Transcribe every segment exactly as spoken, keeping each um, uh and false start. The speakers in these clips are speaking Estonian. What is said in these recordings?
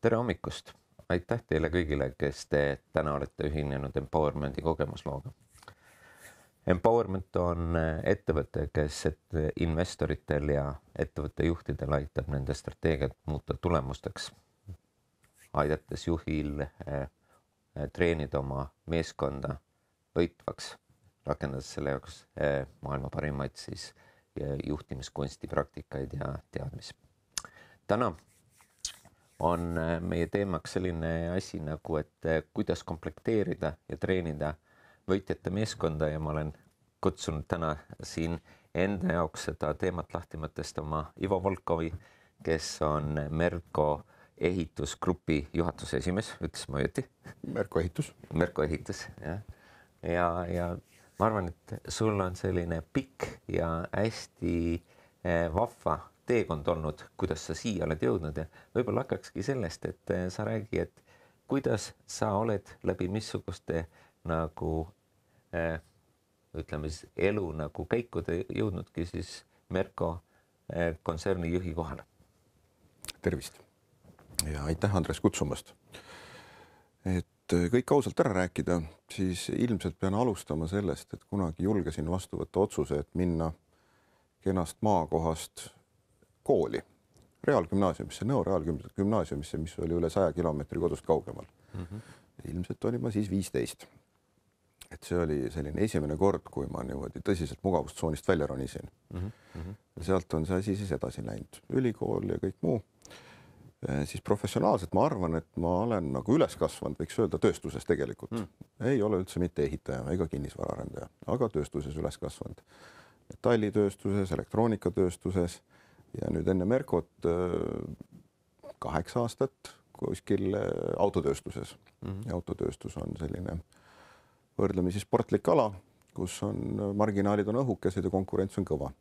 Tere hommikust! Aitäh teile kõigile, kes te täna olete ühinenud Empowermenti kogemuslooga. Empowerment on ettevõte, kes investoritel ja ettevõtte juhtidel aitab nende strateegiat muuta tulemusteks, aidates juhil treenida oma meeskonda võitvaks, rakendades selle jaoks maailma parimaid siis juhtimiskunsti praktikaid ja teadmisi. Täna on meie teemaks selline asi nagu, et kuidas komplekteerida ja treenida võitjate meeskonda ja ma olen kutsunud täna siin enda jaoks seda teemat lahti mõtestama Ivo Volkovi, kes on Merko ehitusgrupi juhatuse esimees, ütles ma õieti? Merko ehitus. Merko ehitus, jah. Ja, ja ma arvan, et sul on selline pikk ja hästi vahva teekond olnud, kuidas sa siia oled jõudnud ja võib-olla hakkakski sellest, et sa räägi, et kuidas sa oled läbi missuguste nagu äh, ütleme siis elu nagu käikude jõudnudki siis Merko äh, kontserni juhi kohale. Tervist ja aitäh Andres kutsumast. Et kõik ausalt ära rääkida, siis ilmselt pean alustama sellest, et kunagi julgesin vastu võtta otsuse, et minna kenast maakohast kooli, reaalgümnaasiumisse, Nõo reaalgümnaasiumisse, mis oli üle saja kilomeetri kodust kaugemal. Mm -hmm. Ilmselt oli ma siis viisteist. Et see oli selline esimene kord, kui ma niimoodi tõsiselt mugavustsoonist välja ronisin. Mm -hmm. Ja sealt on see asi siis edasi läinud. Ülikool ja kõik muu. Siis professionaalselt ma arvan, et ma olen nagu üles kasvanud, võiks öelda tööstuses tegelikult. Mm. Ei ole üldse mitte ehitaja ega kinnisvaraarendaja, aga tööstuses üles kasvanud. Metallitööstuses, elektroonikatööstuses ja nüüd enne Merkot kaheksa aastat kuskil autotööstuses. Mm-hmm. Ja autotööstus on selline võrdlemisi sportlik ala, kus on marginaalid on õhukesed ja konkurents on kõva.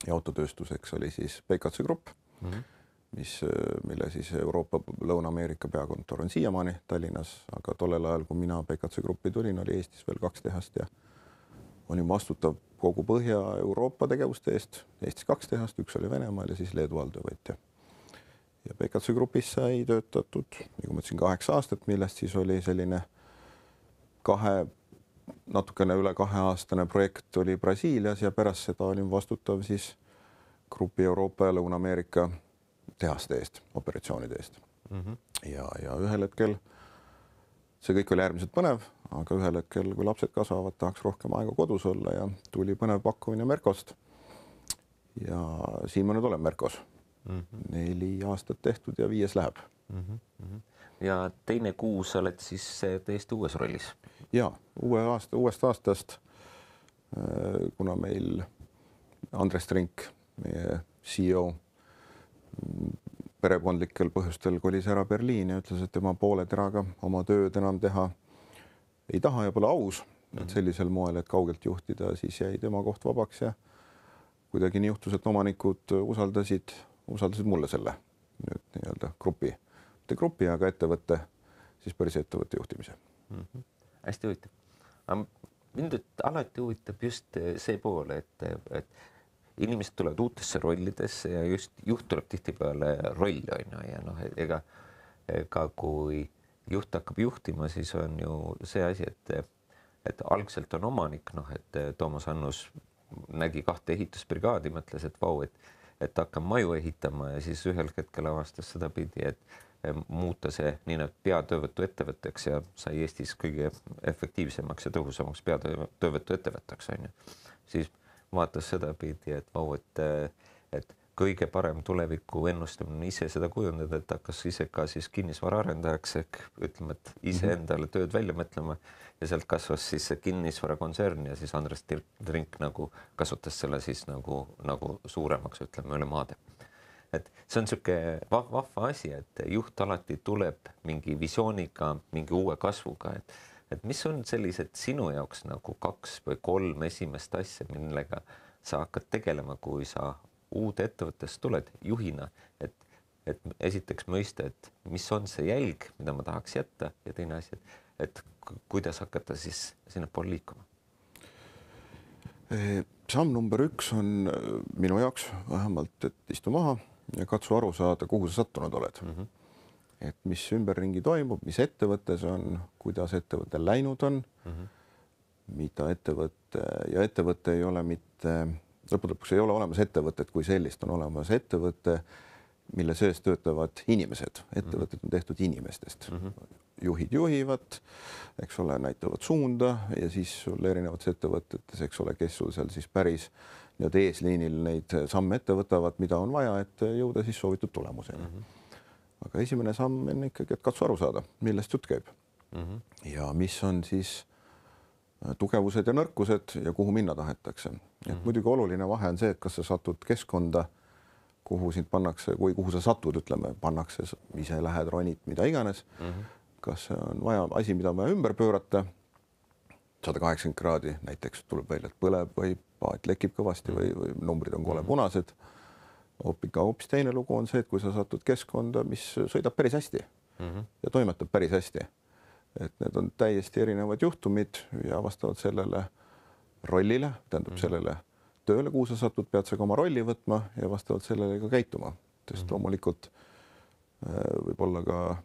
Ja autotööstuseks oli siis P K C Grupp, mm-hmm. mis, mille siis Euroopa Lõuna-Ameerika peakontor on siiamaani Tallinnas, aga tollel ajal, kui mina P K C Gruppi tulin, oli Eestis veel kaks tehast ja olin vastutav kogu Põhja-Euroopa tegevuste eest, Eestis kaks tehast, üks oli Venemaal ja siis Leedu alltöövõtja. Ja P K C Grupis sai töötatud, nagu ma ütlesin, kaheksa aastat, millest siis oli selline kahe, natukene üle kaheaastane projekt oli Brasiilias ja pärast seda olin vastutav siis Grupi Euroopa ja Lõuna-Ameerika tehaste eest, operatsioonide eest. Mm-hmm. Ja, ja ühel hetkel see kõik oli äärmiselt põnev, aga ühel hetkel, kui lapsed kasvavad, tahaks rohkem aega kodus olla ja tuli põnev pakkumine Merkost. Ja siin ma nüüd olen Merkos. Mm-hmm. Neli aastat tehtud ja viies läheb. Mm-hmm. Ja teine kuu sa oled siis täiesti uues rollis? Ja, uue aasta, uuest aastast, kuna meil Andres Trink, meie C E O, perekondlikel põhjustel kolis ära Berliin ja ütles, et tema poole teraga oma tööd enam teha ei taha ja pole aus, et sellisel moel, et kaugelt juhtida, siis jäi tema koht vabaks ja kuidagi nii juhtus, et omanikud usaldasid, usaldasid mulle selle nüüd nii-öelda grupi, mitte grupi, aga ettevõtte, siis päris ettevõtte juhtimise. Mm-hmm. Hästi huvitav. Mind alati huvitab just see pool, et, et inimesed tulevad uutesse rollidesse ja just juht tuleb tihtipeale rolli on ja noh, ega, ega kui juht hakkab juhtima, siis on ju see asi, et, et algselt on omanik, noh, et Toomas Annus nägi kahte ehitusbrigaadi, mõtles, et vau, et, et hakkab maju ehitama ja siis ühel hetkel avastas seda pidi, et muuta see nii nüüd peatöövõtu ettevõtteks ja sai Eestis kõige efektiivsemaks ja tõhusamaks peatöövõtu ettevõtteks on ju. Siis vaatas seda pidi, et vau, et, et kõige parem tuleviku ennustamine ise seda kujundada, et hakkas ise ka siis kinnisvaraarendajaks ehk ütleme, et ise endale tööd välja mõtlema ja sealt kasvas siis see kinnisvarakontsern ja siis Andres Trink nagu kasutas selle siis nagu, nagu suuremaks, ütleme, üle maade. Et see on siuke vahva asi, et juht alati tuleb mingi visiooniga, mingi uue kasvuga, et, et mis on sellised sinu jaoks nagu kaks või kolm esimest asja, millega sa hakkad tegelema, kui sa uude ettevõttest tuled juhina, et, et esiteks mõista, et mis on see jälg, mida ma tahaks jätta ja teine asi, et, et kuidas hakata siis sinna pool liikuma? Samm number üks on minu jaoks vähemalt, et istu maha ja katsu aru saada, kuhu sa sattunud oled. Mm-hmm. et mis ümberringi toimub, mis ettevõttes on, kuidas ettevõte läinud on mm, -hmm. mida ettevõte ja ettevõte ei ole mitte, lõppude lõpuks ei ole olemas ettevõtet kui sellist, on olemas ettevõte, mille sees töötavad inimesed, ettevõtted on tehtud inimestest mm. -hmm. juhid juhivad, eks ole, näitavad suunda ja siis sul erinevates ettevõtetes, eks ole, kes sul seal siis päris nii-öelda eesliinil neid samme ette võtavad, mida on vaja, et jõuda siis soovitud tulemuseni mm. -hmm. aga esimene samm on ikkagi, et katsu aru saada, millest jutt käib mm -hmm. ja mis on siis tugevused ja nõrkused ja kuhu minna tahetakse. Mm -hmm. et muidugi oluline vahe on see, et kas sa satud keskkonda, kuhu sind pannakse või kuhu sa satud, ütleme, pannakse, ise lähed, ronid, mida iganes mm. -hmm. kas see on vaja asi, mida on vaja ümber pöörata sada kaheksakümmend kraadi, näiteks tuleb välja, et põleb või paat lekib kõvasti või, või numbrid on kole punased. Hoopis, hoopis teine lugu on see, et kui sa satud keskkonda, mis sõidab päris hästi mm -hmm. ja toimetab päris hästi, et need on täiesti erinevad juhtumid ja vastavalt sellele rollile, tähendab mm -hmm. sellele tööle, kuhu sa satud, pead sa ka oma rolli võtma ja vastavalt sellele ka käituma, sest mm -hmm. loomulikult võib olla ka,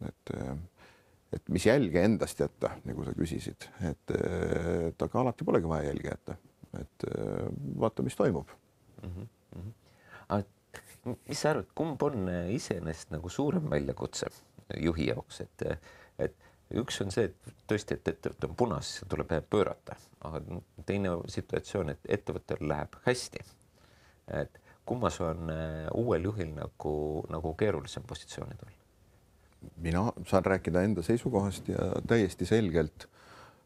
et, et mis jälge endast jätta, nagu sa küsisid, et, et aga alati polegi vaja jälge jätta, et vaata, mis toimub mm. -hmm. aga mis sa arvad, kumb on iseenesest nagu suurem väljakutse juhi jaoks, et, et üks on see, et tõesti, et ettevõte on punas, tuleb pöörata, aga teine situatsioon, et ettevõttel läheb hästi. Et kummas on uuel juhil nagu, nagu keerulisem positsioonid olla? Mina saan rääkida enda seisukohast ja täiesti selgelt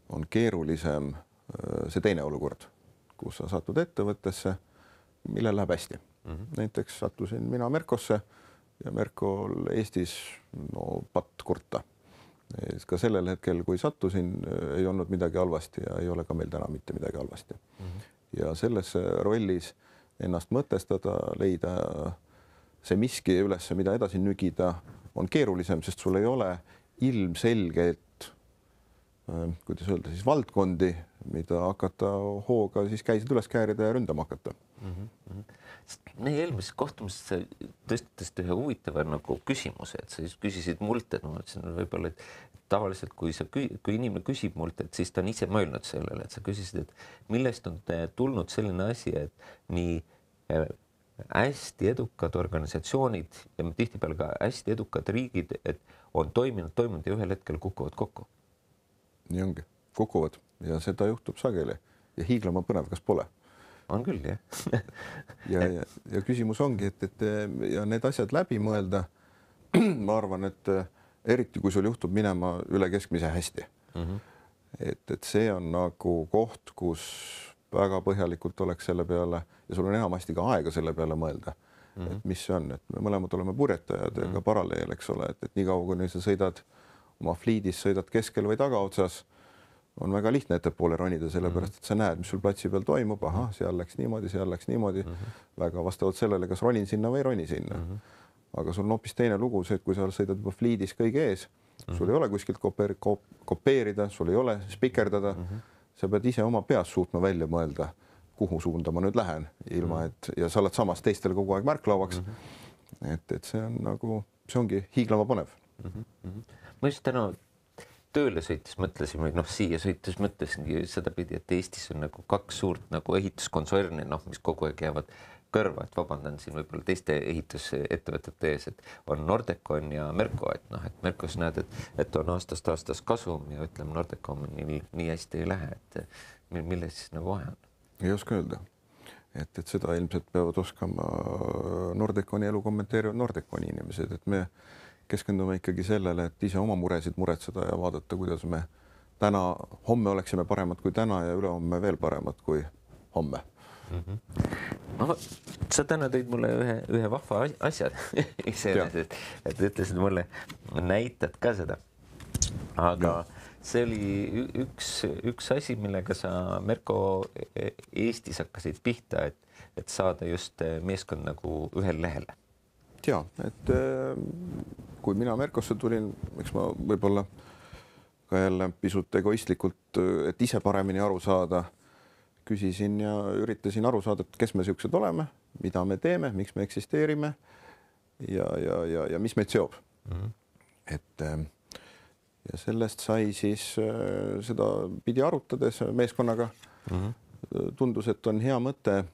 on keerulisem see teine olukord, kus sa satud ettevõttesse, millel läheb hästi. Mm -hmm. näiteks sattusin mina Merkosse ja Merkol Eestis no patt kurta. Ka sellel hetkel, kui sattusin, ei olnud midagi halvasti ja ei ole ka meil täna mitte midagi halvasti mm. -hmm. ja selles rollis ennast mõtestada, leida see miski üles, mida edasi nügida, on keerulisem, sest sul ei ole ilmselget, kuidas öelda siis, valdkondi, mida hakata hooga siis käisid üles käärida ja ründama hakata mm. -hmm. meie eelmises kohtumises sa tõstatasid ühe huvitava nagu küsimuse, et sa siis küsisid mult, et ma ütlesin võib-olla, et tavaliselt kui sa, kui inimene küsib mult, et siis ta on ise mõelnud sellele, et sa küsisid, et millest on tulnud selline asi, et nii hästi edukad organisatsioonid ja tihtipeale ka hästi edukad riigid, et on toiminud, toimunud ja ühel hetkel kukuvad kokku. nii ongi, kukuvad ja seda juhtub sageli ja hiiglama põnev, kas pole? On küll, jah. ja, ja, ja küsimus ongi, et, et ja need asjad läbi mõelda, ma arvan, et eriti kui sul juhtub minema üle keskmise hästi mm, -hmm. et, et see on nagu koht, kus väga põhjalikult oleks selle peale ja sul on enamasti ka aega selle peale mõelda mm, -hmm. et mis see on, et me mõlemad oleme purjetajad ja mm -hmm. ka paralleel, eks ole, et, et niikaua kui sa sõidad oma fliidis, sõidad keskel või tagaotsas, on väga lihtne ettepoole ronida, sellepärast et sa näed, mis sul platsi peal toimub, ahah, seal läks niimoodi, seal läks niimoodi mm, -hmm. väga vastavalt sellele, kas ronin sinna või ei roni sinna mm. -hmm. aga sul on hoopis teine lugu see, et kui sa sõidad juba fliidis kõige ees, mm -hmm. sul ei ole kuskilt kopeer, kopeerida, sul ei ole spikerdada mm, -hmm. sa pead ise oma peas suutma välja mõelda, kuhu suunda ma nüüd lähen, ilma mm -hmm. et ja sa oled samas teistele kogu aeg märklauaks mm. -hmm. et, et see on nagu, see ongi hiiglama põnev mm. -hmm. ma just täna tööle sõites mõtlesin või noh, siia sõites mõtlesingi sedapidi, et Eestis on nagu kaks suurt nagu ehituskontserni, noh, mis kogu aeg jäävad kõrva, et vabandan siin võib-olla teiste ehitusettevõtete ees, et on Nordecon ja Merko, et noh, et Merkos näed, et, et on aastast aastas kasum ja ütleme, Nordeconil nii hästi ei lähe, et milles siis nagu vahe on? Ei oska öelda, et, et seda ilmselt peavad oskama Nordeconi elu kommenteerivad Nordeconi inimesed, et me keskendume ikkagi sellele, et ise oma muresid muretseda ja vaadata, kuidas me täna, homme oleksime paremad kui täna ja ülehomme veel paremad kui homme. Mm -hmm. no, sa täna tõid mulle ühe, ühe vahva asja iseenesest, et ütlesid mulle, näitad ka seda. aga ja. see oli üks, üks asi, millega sa Merko Eestis hakkasid pihta, et, et saada just meeskond nagu ühel lehele. Ja, et kui mina Merkosse tulin, eks ma võib-olla ka jälle pisut egoistlikult, et ise paremini aru saada, küsisin ja üritasin aru saada, et kes me siuksed oleme, mida me teeme, miks me eksisteerime ja, ja, ja, ja mis meid seob. Mm -hmm. et ja sellest sai siis seda pidi arutades meeskonnaga mm. -hmm. tundus, et on hea mõte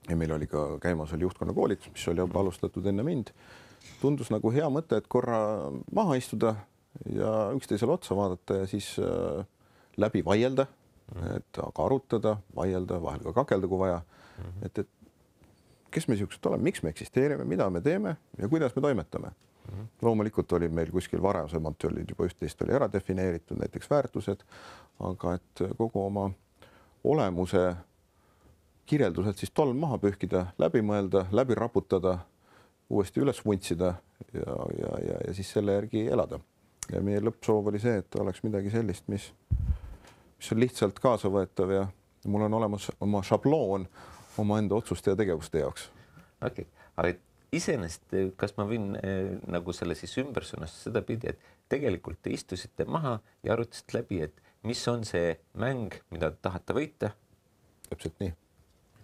ja meil oli ka käimas oli juhtkonna koolitus, mis oli juba alustatud enne mind. Tundus nagu hea mõte, et korra maha istuda ja üksteisele otsa vaadata ja siis läbi vaielda, et aga arutada, vaielda, vahel ka kakelda, kui vaja. Mm -hmm. et, et kes me siuksed oleme, miks me eksisteerime, mida me teeme ja kuidas me toimetame. Mm -hmm. Loomulikult oli meil kuskil varasemalt olid juba üht-teist oli ära defineeritud, näiteks väärtused, aga et kogu oma olemuse kirjelduselt siis tolm maha pühkida, läbi mõelda, läbi raputada, uuesti üles vuntsida ja, ja, ja, ja siis selle järgi elada. Ja meie lõppsoov oli see, et oleks midagi sellist, mis, mis on lihtsalt kaasavõetav ja mul on olemas oma šabloon omaenda otsuste ja tegevuste jaoks. Okei, aga iseenesest, kas ma võin eh, nagu selle siis ümber sõnastada seda pidi, et tegelikult te istusite maha ja arutasite läbi, et mis on see mäng, mida te tahate võita? Täpselt nii.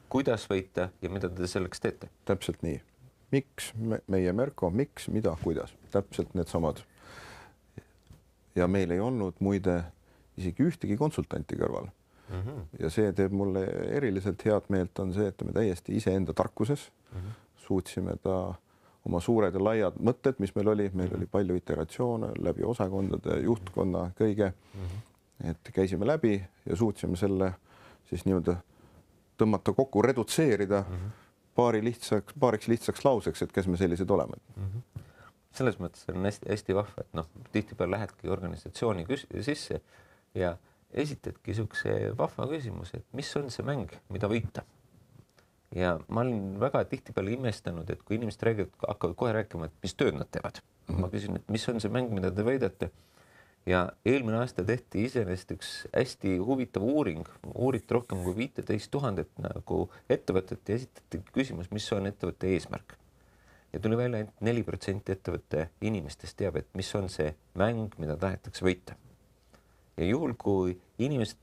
Kuidas võita ja mida te selleks teete? Täpselt nii. Miks me, meie Merko, miks, mida, kuidas? Täpselt need samad. Ja meil ei olnud muide isegi ühtegi konsultanti kõrval. Mm -hmm. Ja see teeb mulle eriliselt head meelt on see, et me täiesti iseenda tarkuses mm -hmm. suutsime ta oma suured ja laiad mõtted, mis meil oli, meil mm -hmm. oli palju iteratsioone läbi osakondade, juhtkonna, kõige, mm -hmm. et käisime läbi ja suutsime selle siis nii-öelda tõmmata kokku, redutseerida mm -hmm. paari lihtsaks, paariks lihtsaks lauseks, et kes me sellised oleme. Mm -hmm. Selles mõttes on hästi, hästi vahva, et noh, tihtipeale lähedki organisatsiooni sisse ja esitadki niisuguse vahva küsimus, et mis on see mäng, mida võita. Ja ma olen väga tihtipeale imestanud, et kui inimesed räägivad, hakkavad kohe rääkima, et mis tööd nad teevad. Mm -hmm. Ma küsin, et mis on see mäng, mida te võidate. Ja eelmine aasta tehti iseenesest üks hästi huvitav uuring, uuriti rohkem kui viiteist tuhandet nagu ettevõtet ja esitati küsimus, mis on ettevõtte eesmärk. Ja tuli välja, et neli protsenti ettevõtte inimestest teab, et mis on see mäng, mida tahetakse võita. Ja juhul, kui inimesed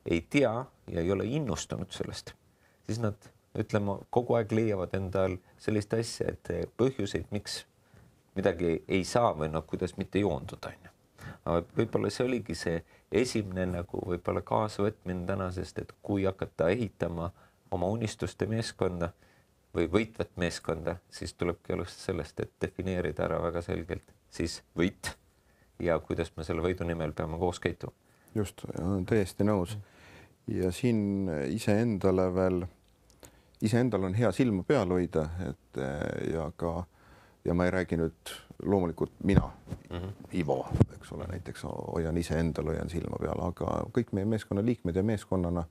ei tea ja ei ole innustunud sellest, siis nad, ütleme, kogu aeg leiavad endal sellist asja, et põhjuseid, miks midagi ei saa või noh, kuidas mitte joonduda. Aga võib-olla see oligi see esimene nagu võib-olla kaasavõtmine tänasest, et kui hakata ehitama oma unistuste meeskonda või võitvat meeskonda, siis tulebki alustada sellest, et defineerida ära väga selgelt siis võit ja kuidas me selle võidu nimel peame koos käituma. Just, täiesti nõus. Ja siin iseendale veel, iseendal on hea silma peal hoida, et ja ka, ja ma ei räägi nüüd loomulikult mina, mm -hmm. Ivo, eks ole, näiteks hoian iseendal, hoian silma peal, aga kõik meie meeskonna liikmed ja meeskonnana,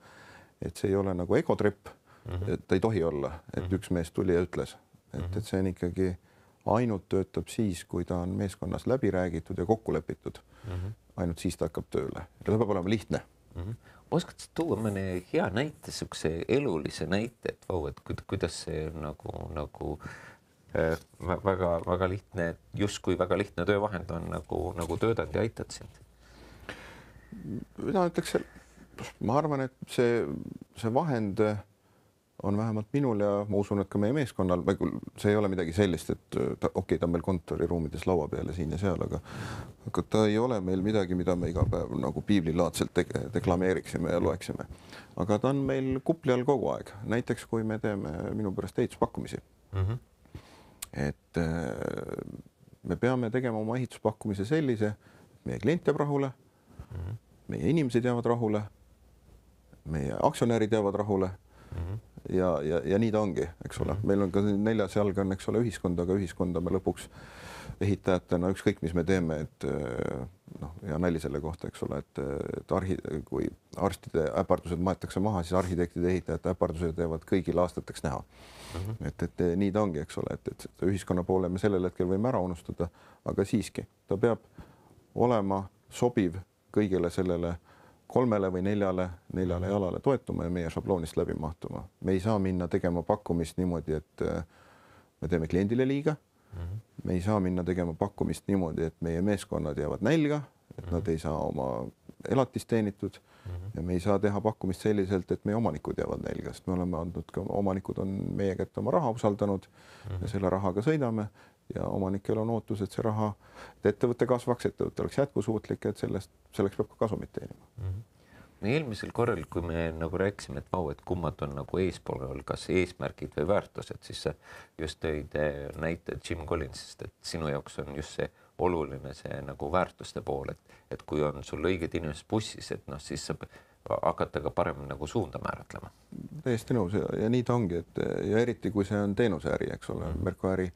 et see ei ole nagu egotripp, mm -hmm. et ei tohi olla, et mm -hmm. üks mees tuli ja ütles, et, mm -hmm. et see on ikkagi ainult töötab siis, kui ta on meeskonnas läbi räägitud ja kokku lepitud. Mm -hmm. Ainult siis ta hakkab tööle. Ta peab olema lihtne. Mm -hmm. Oskad sa tuua mõne hea näite, sukse elulise näite, et vau, et kuidas see nagu, nagu äh, väga, väga lihtne, justkui väga lihtne töövahend on nagu, nagu töötad ja aitad sind? Mina ütleks, ma arvan, et see, see vahend on vähemalt minul ja ma usun, et ka meie meeskonnal, see ei ole midagi sellist, et ta, okei okay,, ta on meil kontoriruumides laua peale siin ja seal, aga, aga ta ei ole meil midagi, mida me iga päev nagu piiblilaadselt te deklameeriksime ja loeksime. Aga ta on meil kupli all kogu aeg. Näiteks, kui me teeme minu pärast ehituspakkumisi. Mm -hmm. Et me peame tegema oma ehituspakkumise sellise, meie klient jääb rahule, mm -hmm. meie inimesed jäävad rahule, meie aktsionärid jäävad rahule, mm -hmm. ja, ja, ja nii ta ongi, eks ole. Meil on ka neljas jalg on, eks ole, ühiskond, aga ühiskonda me lõpuks ehitajatena, ükskõik mis me teeme, et noh, ja nali selle kohta, eks ole, et, et arhi, kui arstide äpardused maetakse maha, siis arhitektide ehitajate äpardused jäävad kõigil aastateks näha. Mm -hmm. et, et nii ta ongi, eks ole, et, et ühiskonna poole me sellel hetkel võime ära unustada, aga siiski ta peab olema sobiv kõigele sellele kolmele või neljale, neljale jalale toetuma ja meie šabloonist läbi mahtuma. Me ei saa minna tegema pakkumist niimoodi, et me teeme kliendile liiga. Mm -hmm. Me ei saa minna tegema pakkumist niimoodi, et meie meeskonnad jäävad nälga, et mm -hmm. nad ei saa oma elatist teenitud mm -hmm. ja me ei saa teha pakkumist selliselt, et meie omanikud jäävad nälga, sest me oleme andnud ka, omanikud on meie kätte oma raha usaldanud mm -hmm. ja selle rahaga sõidame ja omanikel on ootus, et see raha, et ettevõte kasvaks, ettevõte oleks jätkusuutlik, et sellest, selleks peab ka kasumit teenima. Mm -hmm. eelmisel korral, kui me nagu rääkisime, et vau, et kummad on nagu eespool, kas eesmärgid või väärtused, siis sa just tõid näite Jim Collinsist, et sinu jaoks on just see oluline see nagu väärtuste pool, et, et kui on sul õiged inimesed bussis, et noh, siis saab hakata ka parem nagu suunda määratlema. Täiesti nõus ja, ja nii ta ongi, et ja eriti kui see on teenuseäri, eks ole, mm. Merko äri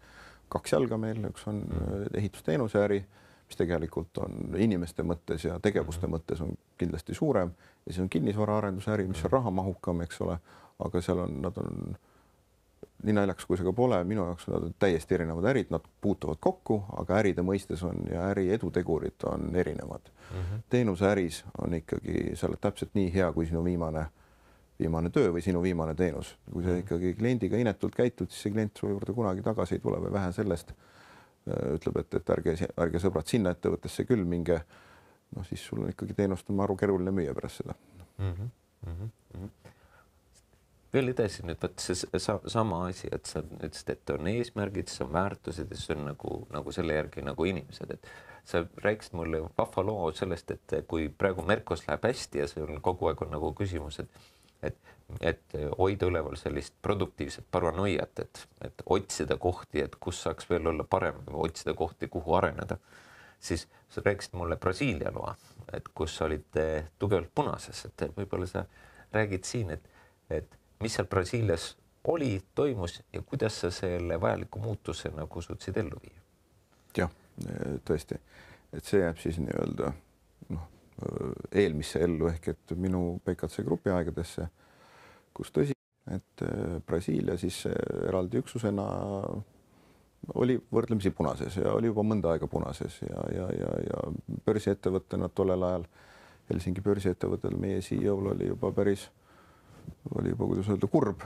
kaks jalga meil, üks on mm. ehitusteenuseäri, mis tegelikult on inimeste mõttes ja tegevuste mm. mõttes on kindlasti suurem ja siis on kinnisvaraarenduse äri, mis on rahamahukam, eks ole, aga seal on, nad on nii naljakas, kui see ka pole, minu jaoks nad on täiesti erinevad ärid, nad puutuvad kokku, aga äride mõistes on ja äri edutegurid on erinevad. Mm -hmm. teenuseäris on ikkagi, sa oled täpselt nii hea, kui sinu viimane, viimane töö või sinu viimane teenus. Kui sa ikkagi kliendiga inetult käitud, siis see klient su juurde kunagi tagasi ei tule või vähe sellest ütleb, et, et ärge, ärge sõbrad sinna ettevõttesse küll minge. noh, siis sul on ikkagi teenust on maru keeruline müüa pärast seda. Mm -hmm. Mm -hmm. veel edasi nüüd võt see sa, sama asi, et sa ütlesid, et on eesmärgid, siis on väärtused ja siis on nagu, nagu selle järgi nagu inimesed, et sa rääkisid mulle vahva loo sellest, et kui praegu Merkos läheb hästi ja see on kogu aeg on nagu küsimus, et et, et hoida üleval sellist produktiivset paranoiat, et, et otsida kohti, et kus saaks veel olla parem, otsida kohti, kuhu areneda, siis sa rääkisid mulle Brasiilia loa, et kus olid tugevalt punases, et võib-olla sa räägid siin, et, et mis seal Brasiilias oli, toimus ja kuidas sa selle vajaliku muutuse nagu suutsid ellu viia? Jah, tõesti, et see jääb siis nii-öelda noh, eelmisse ellu ehk et minu P K C grupi aegadesse, kus tõsi, et Brasiilia siis eraldi üksusena oli võrdlemisi punases ja oli juba mõnda aega punases ja, ja, ja, ja börsiettevõttena tollel ajal Helsingi börsiettevõttel meie C E O-l oli juba päris oli juba, kuidas öelda, kurb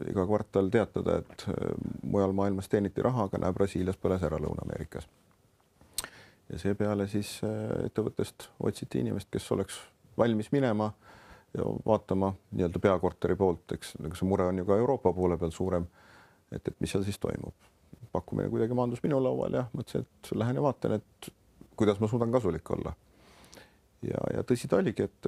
iga kvartal teatada, et mujal maailmas teeniti raha, aga näe, Brasiilias põles ära Lõuna-Ameerikas. Ja seepeale siis ettevõttest otsiti inimest, kes oleks valmis minema ja vaatama nii-öelda peakorteri poolt, eks see mure on ju ka Euroopa poole peal suurem, et, et mis seal siis toimub. Pakkumine kuidagi maandus minu laual ja mõtlesin, et lähen ja vaatan, et kuidas ma suudan kasulik olla. Ja, ja tõsi ta oligi, et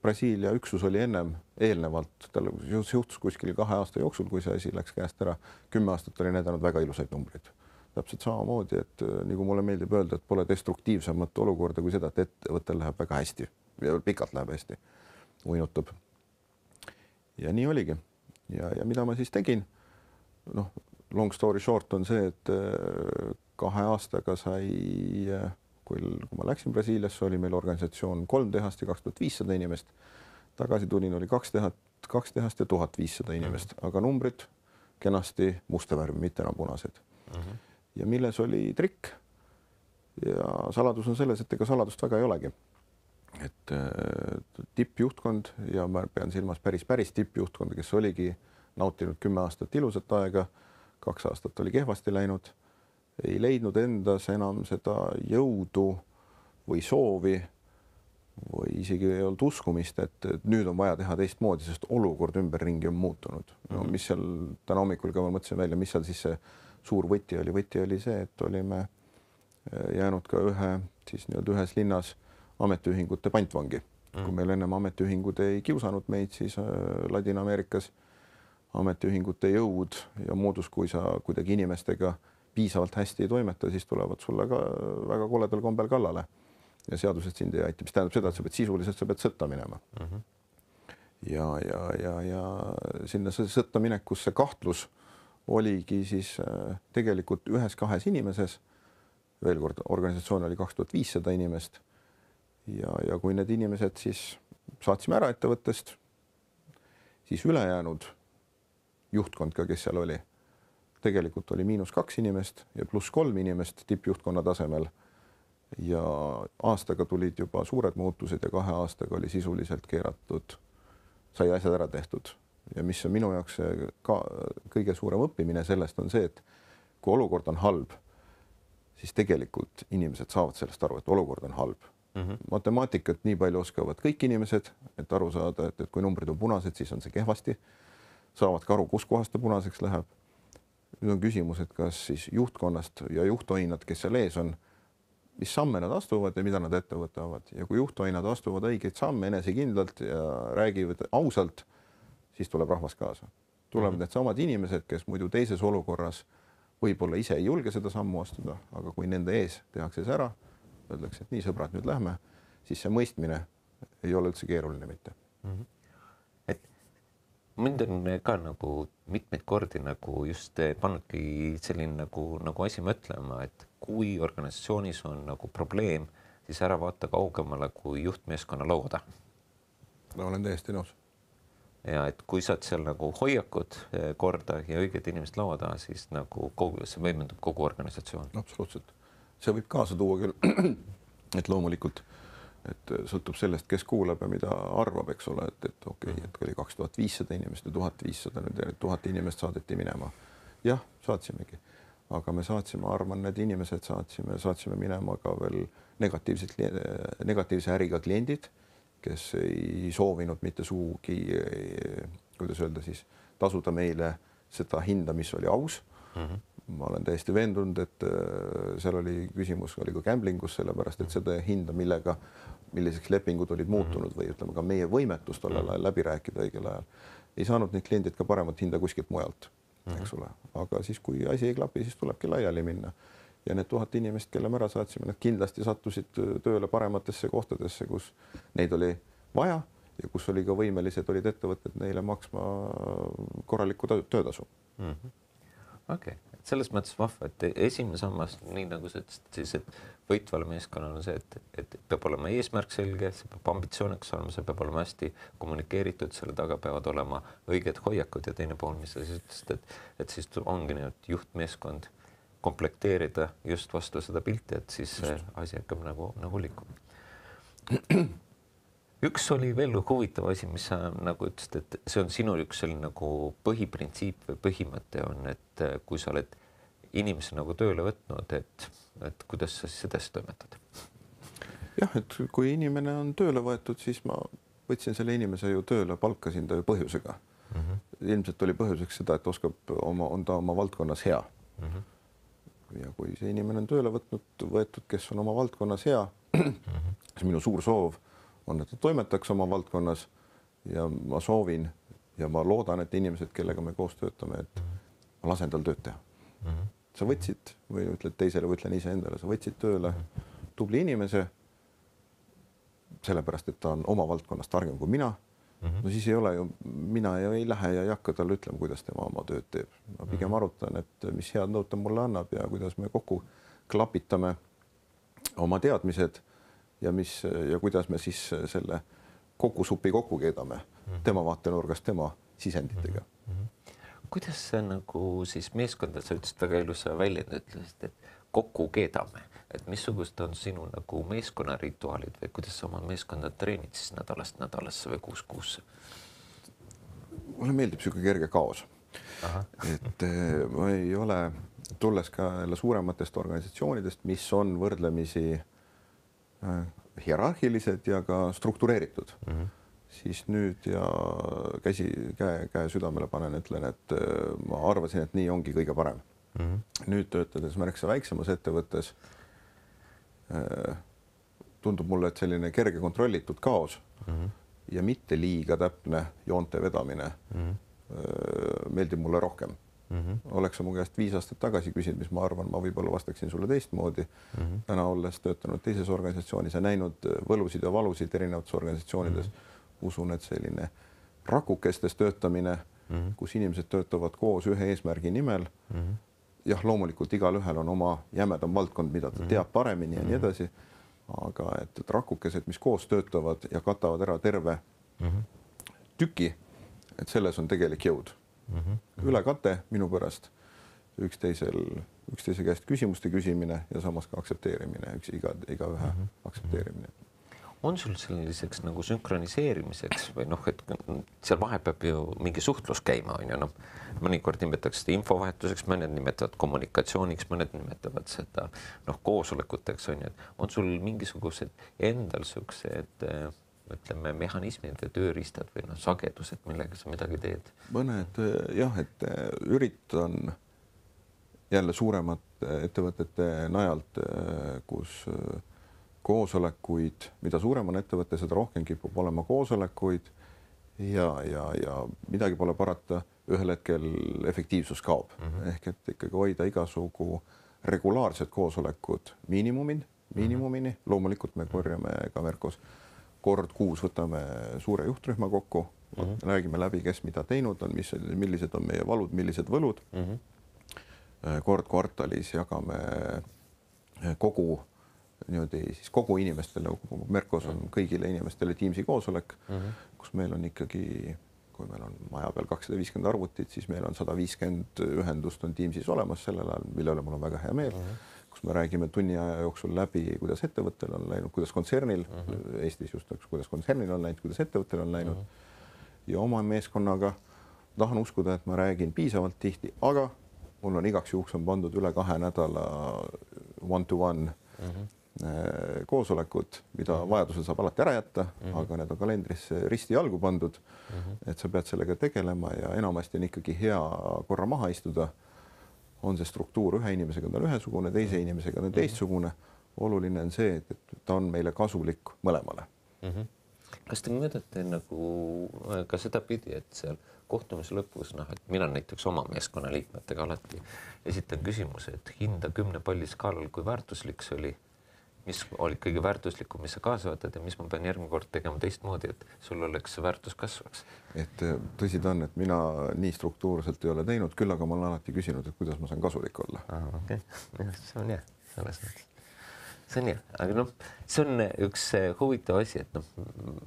Brasiilia üksus oli ennem eelnevalt, tal juhtus kuskil kahe aasta jooksul, kui see asi läks käest ära, kümme aastat oli näidanud väga ilusaid numbreid. Täpselt samamoodi, et nagu mulle meeldib öelda, et pole destruktiivsemat olukorda kui seda, et ettevõttel läheb väga hästi ja pikalt läheb hästi, uinutab. Ja nii oligi. Ja, ja mida ma siis tegin? Noh, long story short on see, et kahe aastaga sai, kui, kui ma läksin Brasiiliasse, oli meil organisatsioon kolm tehast ja kaks tuhat viissada inimest. Tagasi tulin, oli kaks tehast, kaks tehast ja tuhat viissada inimest, aga numbrid kenasti musta värvi, mitte enam punased. Uh-huh. Ja milles oli trikk ja saladus on selles, et ega saladust väga ei olegi. Et tippjuhtkond ja ma pean silmas päris, päris tippjuhtkonda, kes oligi nautinud kümme aastat ilusat aega, kaks aastat oli kehvasti läinud, ei leidnud endas enam seda jõudu või soovi või isegi ei olnud uskumist, et nüüd on vaja teha teistmoodi, sest olukord ümberringi on muutunud. No mis seal täna hommikul ka ma mõtlesin välja, mis seal siis see suur võti oli. Võti oli see, et olime jäänud ka ühe, siis nii-öelda ühes linnas ametiühingute pantvangi. Mm. Kui meil ennem ametiühingud ei kiusanud meid, siis Ladina-Ameerikas ametiühingute jõud ja moodus, kui sa kuidagi inimestega piisavalt hästi ei toimeta, siis tulevad sulle ka väga koledal kombel kallale ja seadused sind ei aita, mis tähendab seda, et sa pead sisuliselt, sa pead sõtta minema. Mm-hmm. Ja, ja, ja, ja sinna sõtta minekusse kahtlus oligi siis tegelikult ühes kahes inimeses. Veel kord, organisatsioon oli kaks tuhat viissada inimest ja, ja kui need inimesed siis saatsime ära ettevõttest, siis ülejäänud juhtkond ka, kes seal oli, tegelikult oli miinus kaks inimest ja pluss kolm inimest tippjuhtkonna tasemel ja aastaga tulid juba suured muutused ja kahe aastaga oli sisuliselt keeratud, sai asjad ära tehtud. Ja mis on minu jaoks ka kõige suurem õppimine sellest on see, et kui olukord on halb, siis tegelikult inimesed saavad sellest aru, et olukord on halb. Mm-hmm. Matemaatikat nii palju oskavad kõik inimesed, et aru saada, et, et kui numbrid on punased, siis on see kehvasti. Saavad ka aru, kus kohast ta punaseks läheb. nüüd on küsimus, et kas siis juhtkonnast ja juhtoinad, kes seal ees on, mis samme nad astuvad ja mida nad ette võtavad ja kui juhtoinad astuvad õigeid samme enesekindlalt ja räägivad ausalt, siis tuleb rahvas kaasa. Tulevad mm-hmm. needsamad inimesed, kes muidu teises olukorras võib-olla ise ei julge seda sammu astuda, aga kui nende ees tehakse see ära, öeldakse, et nii sõbrad, nüüd lähme, siis see mõistmine ei ole üldse keeruline mitte. Mm-hmm. Et mind on ka nagu mitmeid kordi nagu just pannudki selline nagu, nagu asi mõtlema, et kui organisatsioonis on nagu probleem, siis ära vaata kaugemale kui juhtmeeskonna lauda. Ma olen täiesti nõus. Ja et kui saad seal nagu hoiakud korda ja õiged inimesed laua taha, siis nagu kogu, see võimendub kogu organisatsioon. Absoluutselt. See võib kaasa tuua küll, et loomulikult, et sõltub sellest, kes kuulab ja mida arvab, eks ole, et, et okei, okay, et oli kaks tuhat viissada inimest ja tuhat viissada, nüüd tuhat inimest saadeti minema. Jah, saatsimegi. Aga me saatsime, arvan, need inimesed saatsime, saatsime minema ka veel negatiivselt, negatiivse äriga kliendid, kes ei soovinud mitte suugi, kuidas öelda siis, tasuda meile seda hinda, mis oli aus. Mm-hmm. Ma olen täiesti veendunud, et seal oli küsimus, oli ka gamblingus, sellepärast, et seda hinda, millega, milliseks lepingud olid muutunud või ütleme ka meie võimetust olla läbi rääkida õigel ajal, ei saanud need kliendid ka paremat hinda kuskilt mujalt, eks ole. Aga siis, kui asi ei klapi, siis tulebki laiali minna. Ja need tuhat inimest, kelle me ära saatsime, need kindlasti sattusid tööle parematesse kohtadesse, kus neid oli vaja ja kus oli ka võimelised, olid ettevõtted neile maksma korralikku töötasu. Mm-hmm. Okei, okay. Selles mõttes vahva, et esimene sammas, nii nagu sa ütlesid, siis, et võitvale meeskonnal on see, et, et peab olema eesmärk selge, see peab ambitsiooniks olema, see peab olema hästi kommunikeeritud, selle taga peavad olema õiged hoiakud ja teine pool, mis sa siis ütlesid, et, et siis ongi nii, et juhtmeeskond komplekteerida just vastu seda pilti, et siis just. Asi hakkab nagu, nagu liikuma. Üks oli veel huvitav asi, mis sa nagu ütlesid, et see on sinu üks selline nagu põhiprintsiip või põhimõte on, et kui sa oled inimese nagu tööle võtnud, et, et kuidas sa siis edasi toimetad? Jah, et kui inimene on tööle võetud, siis ma võtsin selle inimese ju tööle, palkasin ta ju põhjusega. Mm-hmm. Ilmselt oli põhjuseks seda, et oskab oma, on ta oma valdkonnas hea. Mm-hmm. Ja kui see inimene on tööle võtnud, võetud, kes on oma valdkonnas hea, mm-hmm. siis minu suur soov on, et ta toimetaks oma valdkonnas ja ma soovin ja ma loodan, et inimesed, kellega me koos töötame, et ma lasen tal tööd teha. Mm-hmm. Sa võtsid või ütled teisele või ütlen ise endale, sa võtsid tööle tubli inimese, sellepärast, et ta on oma valdkonnas targem kui mina. Mm-hmm. No siis ei ole ju, mina ei lähe ja ei hakka talle ütlema, kuidas tema oma tööd teeb. Ma pigem arutan, et mis head nõud ta mulle annab ja kuidas me kokku klapitame oma teadmised ja, mis, ja kuidas me siis selle kokkusupi kokku keedame mm-hmm. tema vaatenurgast, tema sisenditega. Mm-hmm. Kuidas see nagu siis meeskonda, sa ütlesid väga ilusa välja, ütlesid, et kokku keedame, et missugust on sinu nagu meeskonna rituaalid või kuidas sa oma meeskonda treenid siis nädalast nädalasse või kuus kuusse? Mulle meeldib siuke kerge kaos. Aha. Et ma ei ole, tulles ka jälle suurematest organisatsioonidest, mis on võrdlemisi hierarhilised ja ka struktureeritud. Mm-hmm. Siis nüüd ja käsi, käe, käe südamele panen, ütlen, et ma arvasin, et nii ongi kõige parem. Mm-hmm. Nüüd töötades märksa väiksemas ettevõttes tundub mulle, et selline kerge kontrollitud kaos mm-hmm. ja mitte liiga täpne joonte vedamine mm-hmm. meeldib mulle rohkem. Mm-hmm. Oleks sa mu käest viis aastat tagasi küsinud, mis ma arvan, ma võib-olla vastaksin sulle teistmoodi. Mm-hmm. Täna olles töötanud teises organisatsioonis ja näinud võlusid ja valusid erinevates organisatsioonides, mm-hmm. usun, et selline rakukestes töötamine, mm-hmm. kus inimesed töötavad koos ühe eesmärgi nimel. Mm-hmm. Jah, loomulikult igal ühel on oma jämedam valdkond, mida ta teab paremini ja nii edasi, aga et, et rakukesed, mis koos töötavad ja katavad ära terve tüki, et selles on tegelik jõud. Ülekate minu pärast üksteisel, üksteise käest küsimuste küsimine ja samas ka aktsepteerimine, üks iga, iga ühe aktsepteerimine. On sul selliseks nagu sünkroniseerimiseks või noh, et seal vahe peab ju mingi suhtlus käima, on ju, noh, mõnikord nimetatakse seda infovahetuseks, mõned nimetavad kommunikatsiooniks, mõned nimetavad seda noh, koosolekuteks, on ju, et on sul mingisugused endal siuksed, ütleme, mehhanismid või tööriistad või noh, sagedused, millega sa midagi teed? Mõned jah, et üritan jälle suuremate ettevõtete najalt, kus koosolekuid, mida suurem on ettevõte, seda rohkem kipub olema koosolekuid ja, ja, ja midagi pole parata, ühel hetkel efektiivsus kaob. Mm -hmm. Ehk et ikkagi hoida igasugu regulaarsed koosolekud miinimumin, miinimumini. Mm -hmm. Loomulikult me korjame ka Merkos kord kuus võtame suure juhtrühma kokku, mm -hmm. räägime läbi, kes mida teinud on, mis, millised on meie valud, millised võlud. Mm -hmm. Kord kvartalis jagame kogu niimoodi siis kogu inimestele, Merkos on kõigile inimestele Teamsi koosolek, mm -hmm. kus meil on ikkagi, kui meil on maja peal kakssada viiskümmend arvutit, siis meil on sada viiskümmend ühendust on Teamsis olemas sellel ajal, mille üle mul on väga hea meel, mm -hmm. kus me räägime tunni aja jooksul läbi, kuidas ettevõttel on läinud, kuidas kontsernil mm -hmm. Eestis just, kuidas kontsernil on läinud, kuidas ettevõttel on läinud mm -hmm. ja oma meeskonnaga tahan uskuda, et ma räägin piisavalt tihti, aga mul on igaks juhuks on pandud üle kahe nädala one-to-one mm -hmm. koosolekud, mida mm -hmm. vajadusel saab alati ära jätta mm, -hmm. aga need on kalendrisse risti jalgu pandud mm, -hmm. et sa pead sellega tegelema ja enamasti on ikkagi hea korra maha istuda. On see struktuur ühe inimesega on ühesugune, teise inimesega on teistsugune. Oluline on see, et ta on meile kasulik mõlemale. Mm -hmm. Kas te mõõdate nagu ka seda pidi, et seal kohtumise lõpus, noh, et mina näiteks oma meeskonna liikmetega alati esitan küsimuse, et hinda kümne palli skaalal, kui väärtuslik see oli, mis oli kõige väärtuslikum, mis sa kaasa võtad ja mis ma pean järgmine kord tegema teistmoodi, et sul oleks see väärtus kasvaks. Et tõsi ta on, et mina nii struktuurselt ei ole teinud, küll aga ma olen alati küsinud, et kuidas ma saan kasulik olla. Ah, okei, okay. See on hea, selles mõttes. See on hea, aga noh, see on üks huvitav asi, et noh,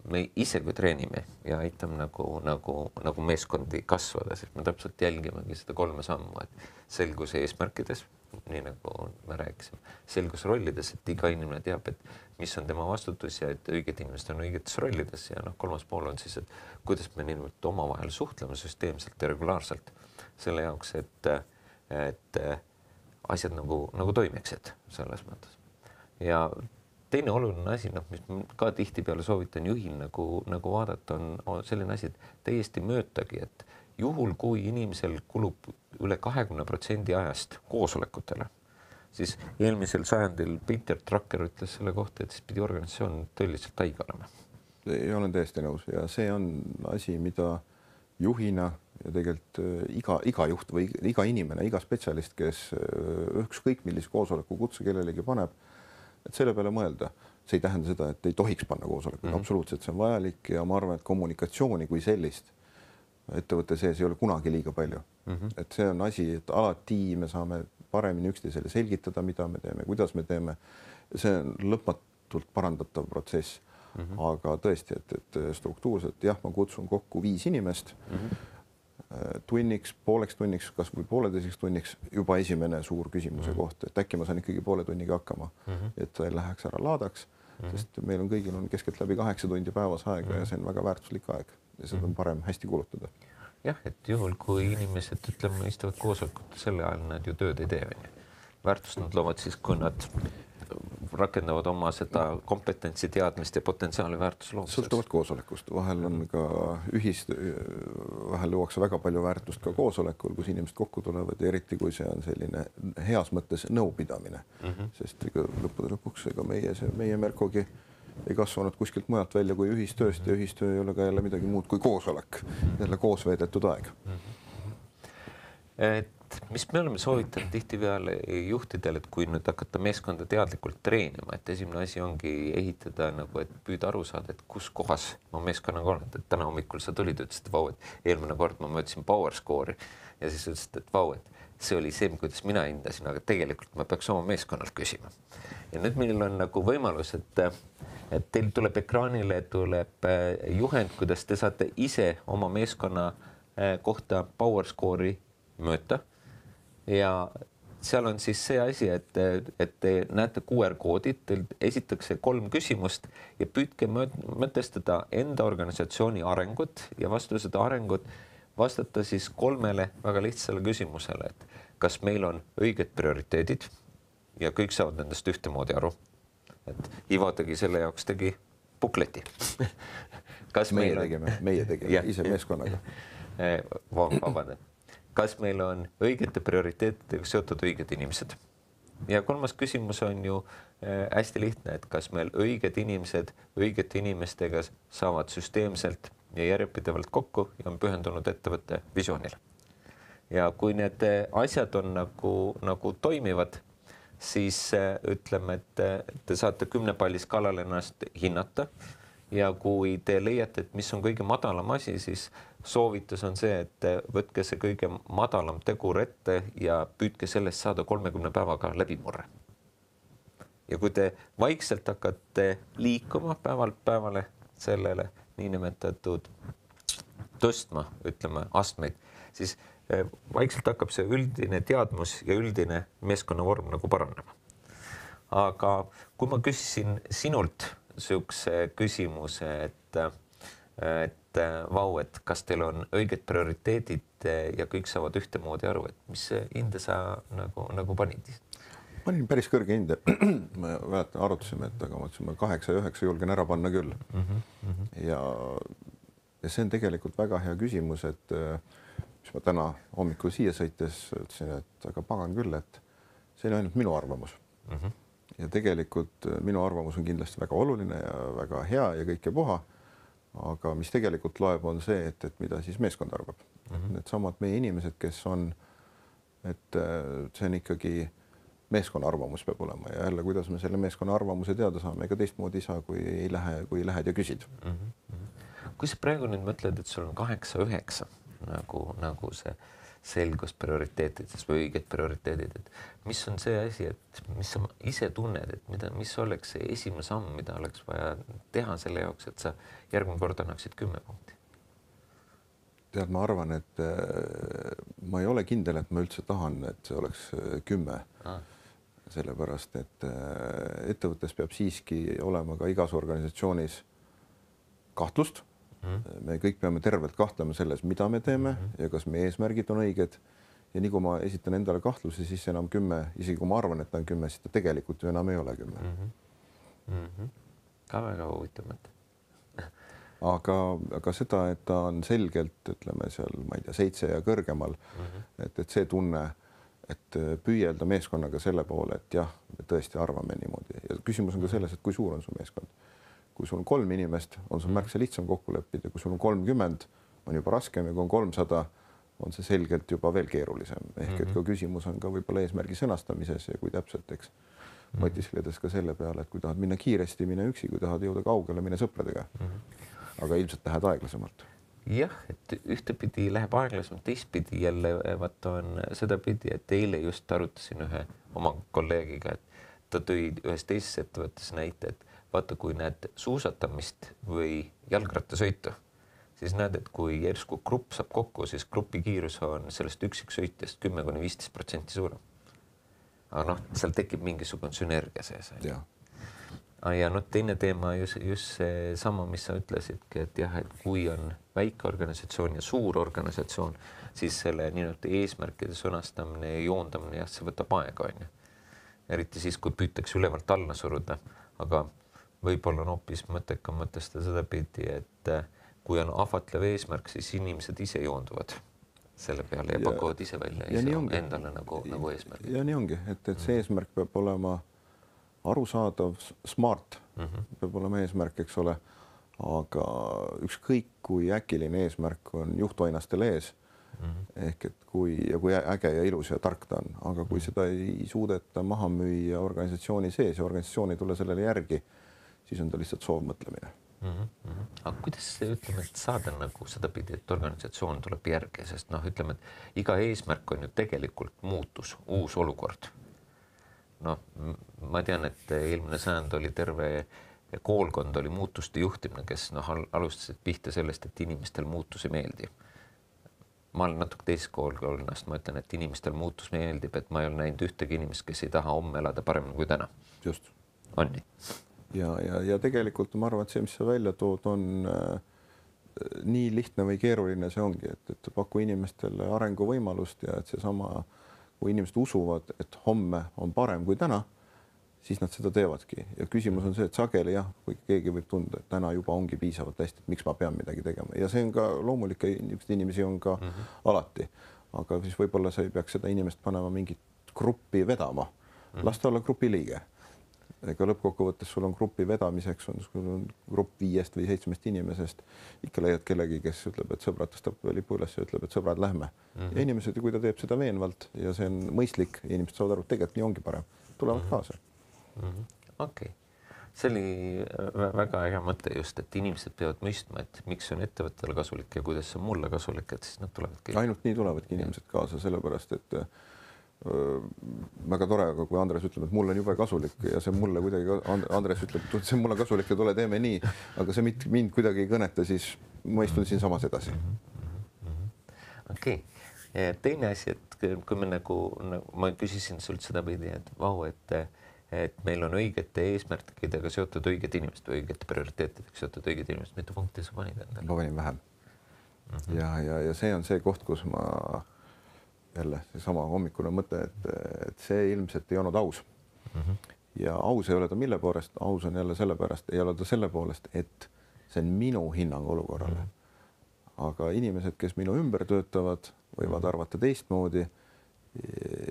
me ise kui treenime ja aitame nagu, nagu, nagu meeskondi kasvada, sest me täpselt jälgimegi seda kolme sammu, et selgus eesmärkides, nii nagu me rääkisime, selgus rollides, et iga inimene teab, et mis on tema vastutus ja et õiged inimesed on õigetes rollides ja noh, kolmas pool on siis, et kuidas me nimelt omavahel suhtleme süsteemselt ja regulaarselt selle jaoks, et, et asjad nagu, nagu toimiksid selles mõttes. Ja teine oluline asi, noh, mis ka tihtipeale soovitan juhil nagu, nagu vaadata, on, on selline asi, et täiesti möötagi, et juhul, kui inimesel kulub üle kahekümne protsendi ajast koosolekutele, siis eelmisel sajandil Peter Drucker ütles selle kohta, et siis pidi organisatsioon tõeliselt haige olema. Ja olen täiesti nõus ja see on asi, mida juhina ja tegelikult iga, iga juht või iga inimene, iga spetsialist, kes ükskõik millise koosoleku kutse kellelegi paneb, et selle peale mõelda. See ei tähenda seda, et ei tohiks panna koosolekuid, mm -hmm. absoluutselt see on vajalik ja ma arvan, et kommunikatsiooni kui sellist ettevõtte sees ei ole kunagi liiga palju. Mm -hmm. Et see on asi, et alati me saame paremini üksteisele selgitada, mida me teeme, kuidas me teeme. See on lõpmatult parandatav protsess, mm -hmm. aga tõesti, et, et struktuurselt jah, ma kutsun kokku viis inimest mm -hmm. tunniks, pooleks tunniks, kas või pooleteiseks tunniks juba esimene suur küsimuse mm -hmm. koht, et äkki ma saan ikkagi poole tunniga hakkama, mm -hmm. et ta ei läheks ära laadaks, mm -hmm. sest meil on kõigil on keskeltläbi kaheksa tundi päevas aega mm -hmm. ja see on väga väärtuslik aeg ja seda on parem hästi kulutada. Jah, et juhul, kui inimesed, ütleme, istuvad koosolekut, selle ajal nad ju tööd ei tee. Väärtust nad loovad siis, kui nad rakendavad oma seda kompetentsi, teadmist ja potentsiaali väärtusloomist. Sõltuvalt koosolekust. Vahel on ka ühist, vahel luuakse väga palju väärtust ka koosolekul, kus inimesed kokku tulevad ja eriti, kui see on selline heas mõttes nõupidamine. Mm -hmm. Sest ega lõppude lõpuks ega meie, see, meie Merkogi ei kasvanud kuskilt mujalt välja kui ühistööst ja ühistöö ei ole ka jälle midagi muud kui koosolek, jälle koos veedetud aeg. Et mis me oleme soovitanud tihtipeale juhtidele, et kui nüüd hakata meeskonda teadlikult treenima, et esimene asi ongi ehitada nagu, et püüda aru saada, et kus kohas ma meeskonnaga olen, et täna hommikul sa tulid, ütlesid, et vau, et eelmine kord ma mõõtsin power score'i ja siis ütlesid, et vau, et see oli see, kuidas mina hindasin, aga tegelikult ma peaks oma meeskonnalt küsima. Ja nüüd meil on nagu võimalus, et et teil tuleb ekraanile, tuleb juhend, kuidas te saate ise oma meeskonna kohta power score'i mõõta ja seal on siis see asi, et, et te näete Q R-koodid, teil esitakse kolm küsimust ja püüdke mõtestada enda organisatsiooni arengut ja vastu seda arengut vastata siis kolmele väga lihtsale küsimusele, et kas meil on õiged prioriteedid ja kõik saavad nendest ühtemoodi aru. Et Ivo tegi selle jaoks tegi bukleti. Kas meie tegime, meie tegime ise meeskonnaga. Vabandan. kas meil on õigete prioriteetidega seotud õiged inimesed? Ja kolmas küsimus on ju hästi lihtne, et kas meil õiged inimesed õigete inimestega saavad süsteemselt ja järjepidevalt kokku ja on pühendunud ettevõtte visioonile. Ja kui need asjad on nagu, nagu toimivad, siis ütleme, et te saate kümne palli skaalal ennast hinnata ja kui te leiate, et mis on kõige madalam asi, siis soovitus on see, et võtke see kõige madalam tegur ette ja püüdke sellest saada kolmekümne päevaga läbimurre. Ja kui te vaikselt hakkate liikuma päevalt päevale sellele niinimetatud tõstma, ütleme, astmeid, siis vaikselt hakkab see üldine teadmus ja üldine meeskonnavorm nagu paranema. Aga kui ma küsisin sinult sihukese küsimuse, et, et vau, et kas teil on õiged prioriteedid ja kõik saavad ühtemoodi aru, et mis hinde sa nagu, nagu panid? Ma olin päris kõrge hinde. Me väärtan, arutasime, et aga mõtlesime kaheksa ja üheksa julgen ära panna küll. Mm -hmm. ja, ja see on tegelikult väga hea küsimus, et mis ma täna hommikul siia sõites ütlesin, et aga pagan küll, et see on ainult minu arvamus. Mm -hmm. Ja tegelikult minu arvamus on kindlasti väga oluline ja väga hea ja kõike puha. Aga mis tegelikult loeb, on see, et, et mida siis meeskond arvab. Mm -hmm. Need samad meie inimesed, kes on, et see on ikkagi meeskonna arvamus peab olema ja jälle, kuidas me selle meeskonna arvamuse teada saame, ega teistmoodi ei saa, kui ei lähe, kui lähed ja küsid. Mm -hmm. Kui sa praegu nüüd mõtled, et sul on kaheksa üheksa nagu, nagu see selgus prioriteetides või õiged prioriteedid, et mis on see asi, et mis sa ise tunned, et mida, mis oleks see esimene samm, mida oleks vaja teha selle jaoks, et sa järgmine kord annaksid kümme punkti? Tead, ma arvan, et ma ei ole kindel, et ma üldse tahan, et see oleks kümme. Ah. Sellepärast, et ettevõttes peab siiski olema ka igas organisatsioonis kahtlust. Me kõik peame tervelt kahtlema selles, mida me teeme mm -hmm. ja kas meie eesmärgid on õiged. Ja nii kui ma esitan endale kahtlusi, siis enam kümme, isegi kui ma arvan, et ta on kümme, siis ta tegelikult ju enam ei ole kümme. Mm -hmm. Ka väga huvitav mõte. aga, aga seda, et ta on selgelt, ütleme seal, ma ei tea, seitse ja kõrgemal, mm -hmm. et, et see tunne, et püüelda meeskonnaga selle poole, et jah, me tõesti arvame niimoodi. Ja küsimus on ka selles, et kui suur on su meeskond. Kui sul on kolm inimest, on sul märksa lihtsam kokku leppida, kui sul on kolmkümmend, on juba raskem ja kui on kolmsada, on see selgelt juba veel keerulisem. Ehk et ka küsimus on ka võib-olla eesmärgi sõnastamises ja kui täpselt, eks, mõtisledes ka selle peale, et kui tahad minna kiiresti, mine üksi, kui tahad jõuda kaugele, mine sõpradega. Aga ilmselt lähed aeglasemalt. Jah, et ühtepidi läheb aeglasemalt, teistpidi jälle vaata on sedapidi, et eile just arutasin ühe oma kolleegiga, et ta tõi ühes teises ettevõttes näite, et vaata, kui näed suusatamist või jalgrattasõitu, siis näed, et kui järsku grupp saab kokku, siis grupi kiirus on sellest üksiksõitjast kümme kuni viisteist protsenti suurem. Aga noh, seal tekib mingisugune sünergia sees. Ja. ja noh, teine teema just, just see sama, mis sa ütlesidki, et jah, et kui on väike organisatsioon ja suur organisatsioon, siis selle nii-öelda eesmärkide sõnastamine ja joondamine, jah, see võtab aega, on ju. Eriti siis, kui püütakse ülevalt alla suruda, aga võib-olla on hoopis mõttekam mõtestada seda pidi, et kui on ahvatlev eesmärk, siis inimesed ise joonduvad selle peale ja, ja pakuvad ise välja ja ise endale nagu, nagu eesmärk. Ja nii ongi, et, et see eesmärk peab olema arusaadav, smart mm -hmm. peab olema eesmärk, eks ole, aga ükskõik kui äkiline eesmärk on juhtoinastel ees mm -hmm. ehk et kui ja kui äge ja ilus ja tark ta on, aga kui seda ei suudeta maha müüa organisatsiooni sees ja organisatsioon ei tule sellele järgi, siis on ta lihtsalt soovmõtlemine. Mm -hmm. Aga kuidas ütleme, et saada nagu sedapidi, et organisatsioon tuleb järgi, sest noh, ütleme, et iga eesmärk on ju tegelikult muutus, uus olukord. Noh, ma tean, et eelmine sajand oli terve koolkond oli muutuste juhtimine, kes noh, alustasid pihta sellest, et inimestel muutus ei meeldi. Ma olen natuke teisest koolkonnast, ma ütlen, et inimestel muutus meeldib, et ma ei ole näinud ühtegi inimest, kes ei taha homme elada paremini kui täna. Just. On nii? Ja, ja, ja tegelikult ma arvan, et see, mis sa välja tood, on äh, nii lihtne või keeruline see ongi, et, et paku inimestele arenguvõimalust ja et seesama, kui inimesed usuvad, et homme on parem kui täna, siis nad seda teevadki. Ja küsimus on see, et sageli jah, kui keegi võib tunda, et täna juba ongi piisavalt hästi, et miks ma pean midagi tegema. Ja see on ka loomulik, inimesi on ka mm -hmm. alati. aga siis võib-olla sa ei peaks seda inimest panema mingit gruppi vedama, las ta olla grupi liige. Ega lõppkokkuvõttes sul on grupi vedamiseks, on sul on grupp viiest või seitsmest inimesest, ikka leiad kellegi, kes ütleb, et sõbrad tõstab lipu üles ja ütleb, et sõbrad, lähme. Mm -hmm. Ja inimesed, kui ta teeb seda veenvalt ja see on mõistlik, inimesed saavad aru, et tegelikult nii ongi parem, tulevad mm -hmm. kaasa. Mm -hmm. Okei. Okay. See oli väga hea mõte just, et inimesed peavad mõistma, et miks see on ettevõttele kasulik ja kuidas see on mulle kasulik, et siis nad tulevadki. Ainult nii tulevadki inimesed kaasa, sellepärast et öö, väga tore, aga kui Andres ütleb, et mulle on jube kasulik ja see mulle kuidagi, Andres ütleb, et see mulle kasulik ja tule teeme nii, aga see mind, mind kuidagi ei kõneta, siis ma istun siin samas edasi. Okei. Okay. Teine asi, et kui me nagu, nagu ma küsisin sult seda pidi, et vau, et et meil on õigete eesmärkidega seotud õiged inimesed või õigete prioriteetidega seotud õiged inimesed. Mitu punkti sa panid endale? Ma panin vähem. Mm -hmm. Ja, ja, ja see on see koht, kus ma jälle seesama hommikune mõte, et, et see ilmselt ei olnud aus. Mm -hmm. Ja aus ei ole ta mille poolest, aus on jälle sellepärast, ei ole ta selle poolest, et see on minu hinnang olukorrale. Mm -hmm. Aga inimesed, kes minu ümber töötavad, võivad arvata teistmoodi.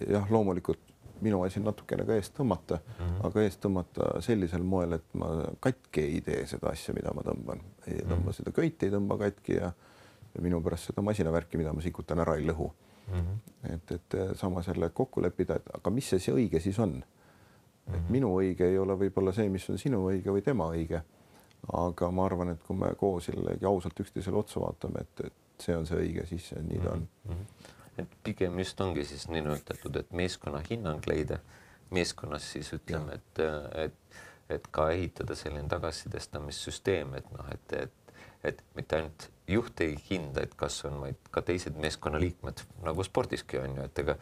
Jah, loomulikult minu asi on natukene ka eest tõmmata, mm -hmm. aga eest tõmmata sellisel moel, et ma katki ei tee seda asja, mida ma tõmban. Ei tõmba mm -hmm. seda köiti, ei tõmba katki ja, ja minu pärast seda masinavärki, mida ma sikutan ära ei lõhu. Mm -hmm. et, et sama selle kokku leppida, et aga mis see, see õige siis on? Mm -hmm. Et minu õige ei ole võib-olla see, mis on sinu õige või tema õige. Aga ma arvan, et kui me koos jällegi ausalt üksteisele otsa vaatame, et, et see on see õige, siis see, nii ta on. Mm -hmm. Et pigem just ongi siis nii öeldatud, et meeskonna hinnang leida, meeskonnas siis ütleme, et, et, et ka ehitada selline tagasisidestamissüsteem, et noh, et, et, et mitte ainult juht ei hinda, et kas on, vaid ka teised meeskonnaliikmed, nagu spordiski on ju, et ega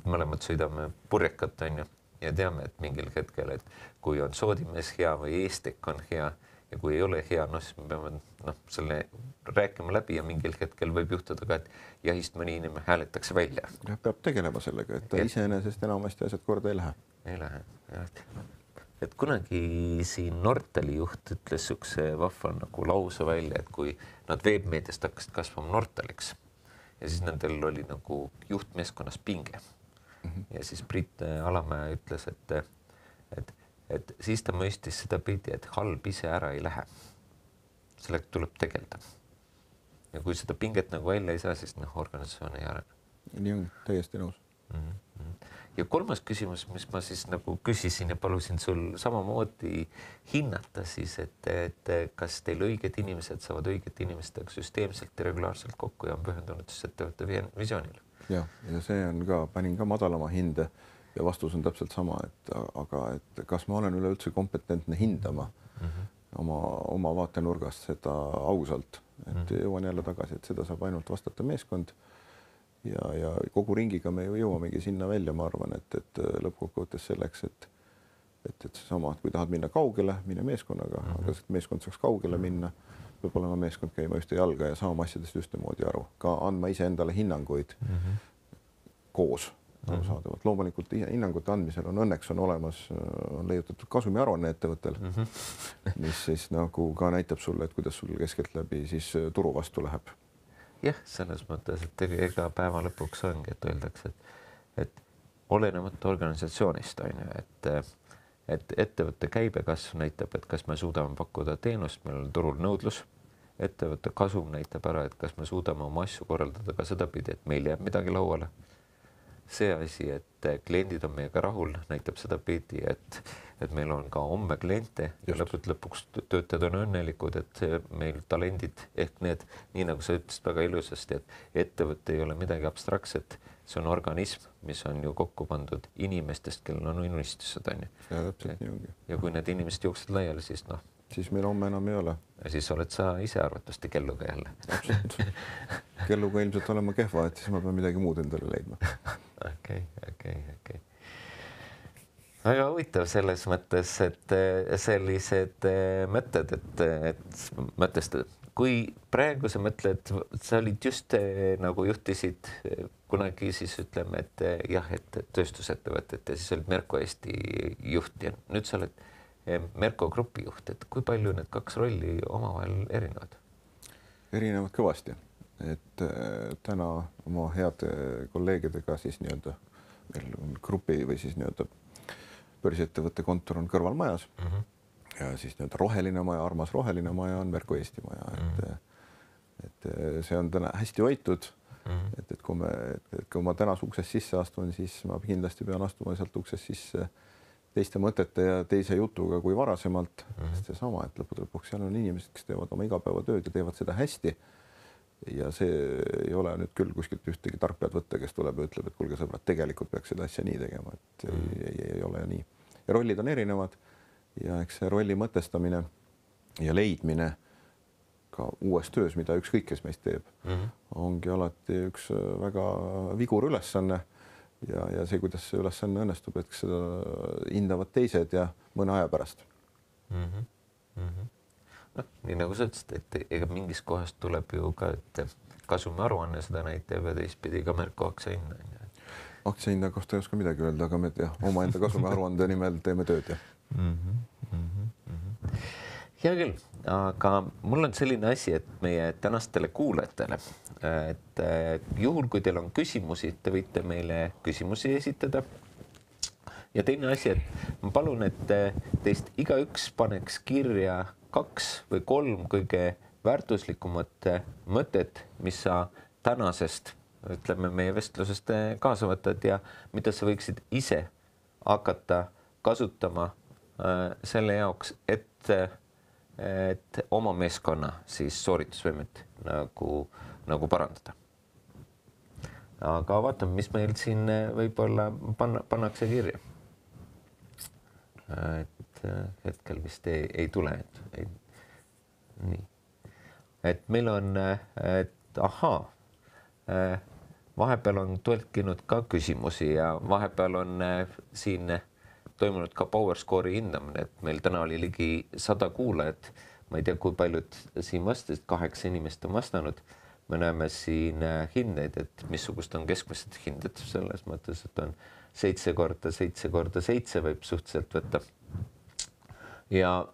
mõlemad sõidame purjekat on ju ja teame, et mingil hetkel, et kui on soodimees hea või eestek on hea ja kui ei ole hea, noh, siis me peame noh, selle rääkima läbi ja mingil hetkel võib juhtuda ka, et jahist mõni inimene hääletakse välja. Ja peab tegelema sellega, et ta ja iseenesest enamasti asjad korda ei lähe. Ei lähe, jah. Et kunagi siin Nortali juht ütles sükse vahva nagu lause välja, et kui nad veebmeediast hakkasid kasvama Nortaliks ja siis nendel oli nagu juhtmeeskonnas pinge. Mm -hmm. Ja siis Priit Alamäe ütles, et, et et siis ta mõistis seda pidi, et halb ise ära ei lähe. Sellega tuleb tegelda. Ja kui seda pinget nagu välja ei saa, siis noh, organisatsioon ei arene. Nii on, täiesti nõus. Mm -hmm. Ja kolmas küsimus, mis ma siis nagu küsisin ja palusin sul samamoodi hinnata siis, et, et kas teil õiged inimesed saavad õigete inimestega süsteemselt ja regulaarselt kokku ja on pühendunud siis ettevõtte visioonile. Ja, ja see on ka, panin ka madalama hinde. Ja vastus on täpselt sama, et aga et kas ma olen üleüldse kompetentne hindama mm -hmm. oma, oma vaatenurgast seda ausalt, et mm -hmm. jõuan jälle tagasi, et seda saab ainult vastata meeskond ja, ja kogu ringiga me ju jõuamegi sinna välja, ma arvan, et, et lõppkokkuvõttes selleks, et et, et seesama, et kui tahad minna kaugele, mine meeskonnaga, mm -hmm. aga et meeskond saaks kaugele minna, peab olema meeskond käima ühte jalga ja saama asjadest ühtemoodi aru, ka andma iseendale hinnanguid mm -hmm. koos. Arusaadavalt. Loomulikult hinnangute andmisel on õnneks on olemas, on leiutatud kasumiaruanne ettevõttel, mm -hmm. mis siis nagu ka näitab sulle, et kuidas sul keskeltläbi siis turu vastu läheb. Jah, selles mõttes, et ega päeva lõpuks ongi, et öeldakse, et, et olenemata organisatsioonist on ju, et, et ettevõtte käibekasv näitab, et kas me suudame pakkuda teenust, meil on turul nõudlus, ettevõtte kasum näitab ära, et kas me suudame oma asju korraldada ka sedapidi, et meil jääb midagi lauale. See asi, et kliendid on meiega rahul, näitab seda pidi, et, et meil on ka homme kliente ja lõput lõpuks töötajad on õnnelikud, et meil talendid ehk need, nii nagu sa ütlesid väga ilusasti, et ettevõte ei ole midagi abstraktset, see on organism, mis on ju kokku pandud inimestest, kellel on unistused, on ju. Ja täpselt nii ongi. Ja kui need inimesed jooksid laiali, siis noh. Siis meil homme enam ei ole. Ja siis oled sa ise arvatavasti kelluga jälle. Kelluga ilmselt olema kehva, et siis ma pean midagi muud endale leidma. Okei, okei, okei. Väga huvitav selles mõttes, et sellised mõtted, et, et mõtestada. Kui praegu sa mõtled, sa olid just nagu juhtisid kunagi siis ütleme, et jah, et tööstusettevõtet ja siis olid Merko Eesti juht ja nüüd sa oled Merko grupi juht, et kui palju need kaks rolli omavahel erinevad? Erinevad kõvasti. et täna oma heade kolleegidega siis nii-öelda meil on grupi või siis nii-öelda börsiettevõtte kontor on kõrvalmajas mm -hmm. ja siis nii-öelda roheline maja, armas roheline maja on Merko Eesti maja, et mm -hmm. et see on täna hästi hoitud mm. -hmm. et, et kui me, et kui ma tänas uksest sisse astun, siis ma kindlasti pean astuma sealt uksest sisse teiste mõtete ja teise jutuga kui varasemalt mm. -hmm. seesama, et lõppude lõpuks seal on inimesed, kes teevad oma igapäevatööd ja teevad seda hästi. Ja see ei ole nüüd küll kuskilt ühtegi tarkpead võtta, kes tuleb ja ütleb, et kuulge sõbrad, tegelikult peaks seda asja nii tegema, et mm. ei, ei, ei ole nii. Ja rollid on erinevad ja eks see rolli mõtestamine ja leidmine ka uues töös, mida ükskõik kes meist teeb, mm -hmm. ongi alati üks väga vigur ülesanne ja, ja see, kuidas see ülesanne õnnestub, et seda hindavad teised ja mõne aja pärast. Mm -hmm. Mm -hmm. noh, nii nagu sa ütlesid, et ega mingis kohast tuleb ju ka, et kasumi aruanne seda näitab ja teistpidi ka Merko aktsiahinna. aktsiahinna kohta ei oska midagi öelda, aga me jah, omaenda kasumi aruande nimel teeme tööd ja. Mm -hmm, mm -hmm. hea küll, aga mul on selline asi, et meie tänastele kuulajatele, et juhul, kui teil on küsimusi, te võite meile küsimusi esitada. Ja teine asi, et ma palun, et teist igaüks paneks kirja kaks või kolm kõige väärtuslikumat mõtet, mis sa tänasest, ütleme, meie vestlusest kaasa võtad ja mida sa võiksid ise hakata kasutama äh, selle jaoks, et, et oma meeskonna siis sooritusvõimet nagu, nagu parandada. Aga vaatame, mis meil siin võib-olla panna, pannakse kirja. Et hetkel vist ei, ei tule, et ei, nii. Et meil on, et ahaa, vahepeal on tõlkinud ka küsimusi ja vahepeal on siin toimunud ka PowerScore'i hindamine, et meil täna oli ligi sada kuulajat. Ma ei tea, kui paljud siin vastasid, kaheksa inimest on vastanud. Me näeme siin hindeid, et missugust on keskmised hinded selles mõttes, et on seitse korda seitse korda seitse võib suhteliselt võtta. Ja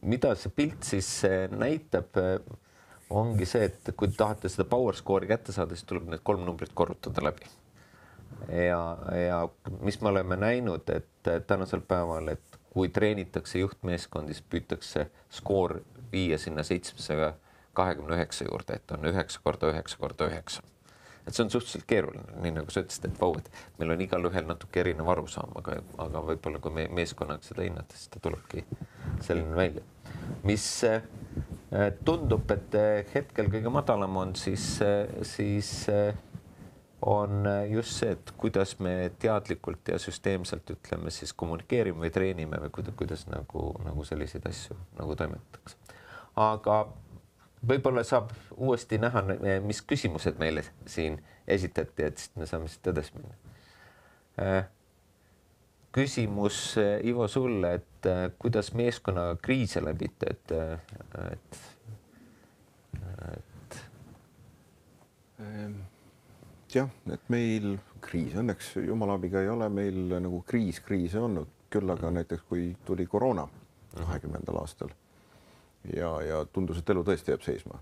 mida see pilt siis näitab, ongi see, et kui tahate seda PowerScore'i kätte saada, siis tuleb need kolm numbrit korrutada läbi. Ja, ja mis me oleme näinud, et tänasel päeval, et kui treenitakse juhtmeeskondi, siis püütakse skoor viia sinna seitsmesaja kahekümne üheksa juurde, et on üheksa korda üheksa korda üheksa. Et see on suhteliselt keeruline, nii nagu sa ütlesid, et vau, et meil on igal ühel natuke erinev arusaam, aga, aga võib-olla kui me meeskonnaga seda hinnata, siis ta tulebki selline välja. Mis tundub, et hetkel kõige madalam on, siis, siis on just see, et kuidas me teadlikult ja süsteemselt ütleme siis kommunikeerime või treenime või kuidas, kuidas nagu, nagu selliseid asju nagu toimetatakse. Aga võib-olla saab uuesti näha, mis küsimused meile siin esitati, et siis me saame siit edasi minna. Küsimus, Ivo, sulle, et kuidas meeskonna kriise läbite, et, et, et... jah, et meil kriis, õnneks jumala abiga ei ole meil nagu kriis kriise olnud, küll aga näiteks kui tuli koroona kahekümnendal aastal ja, ja tundus, et elu tõesti jääb seisma,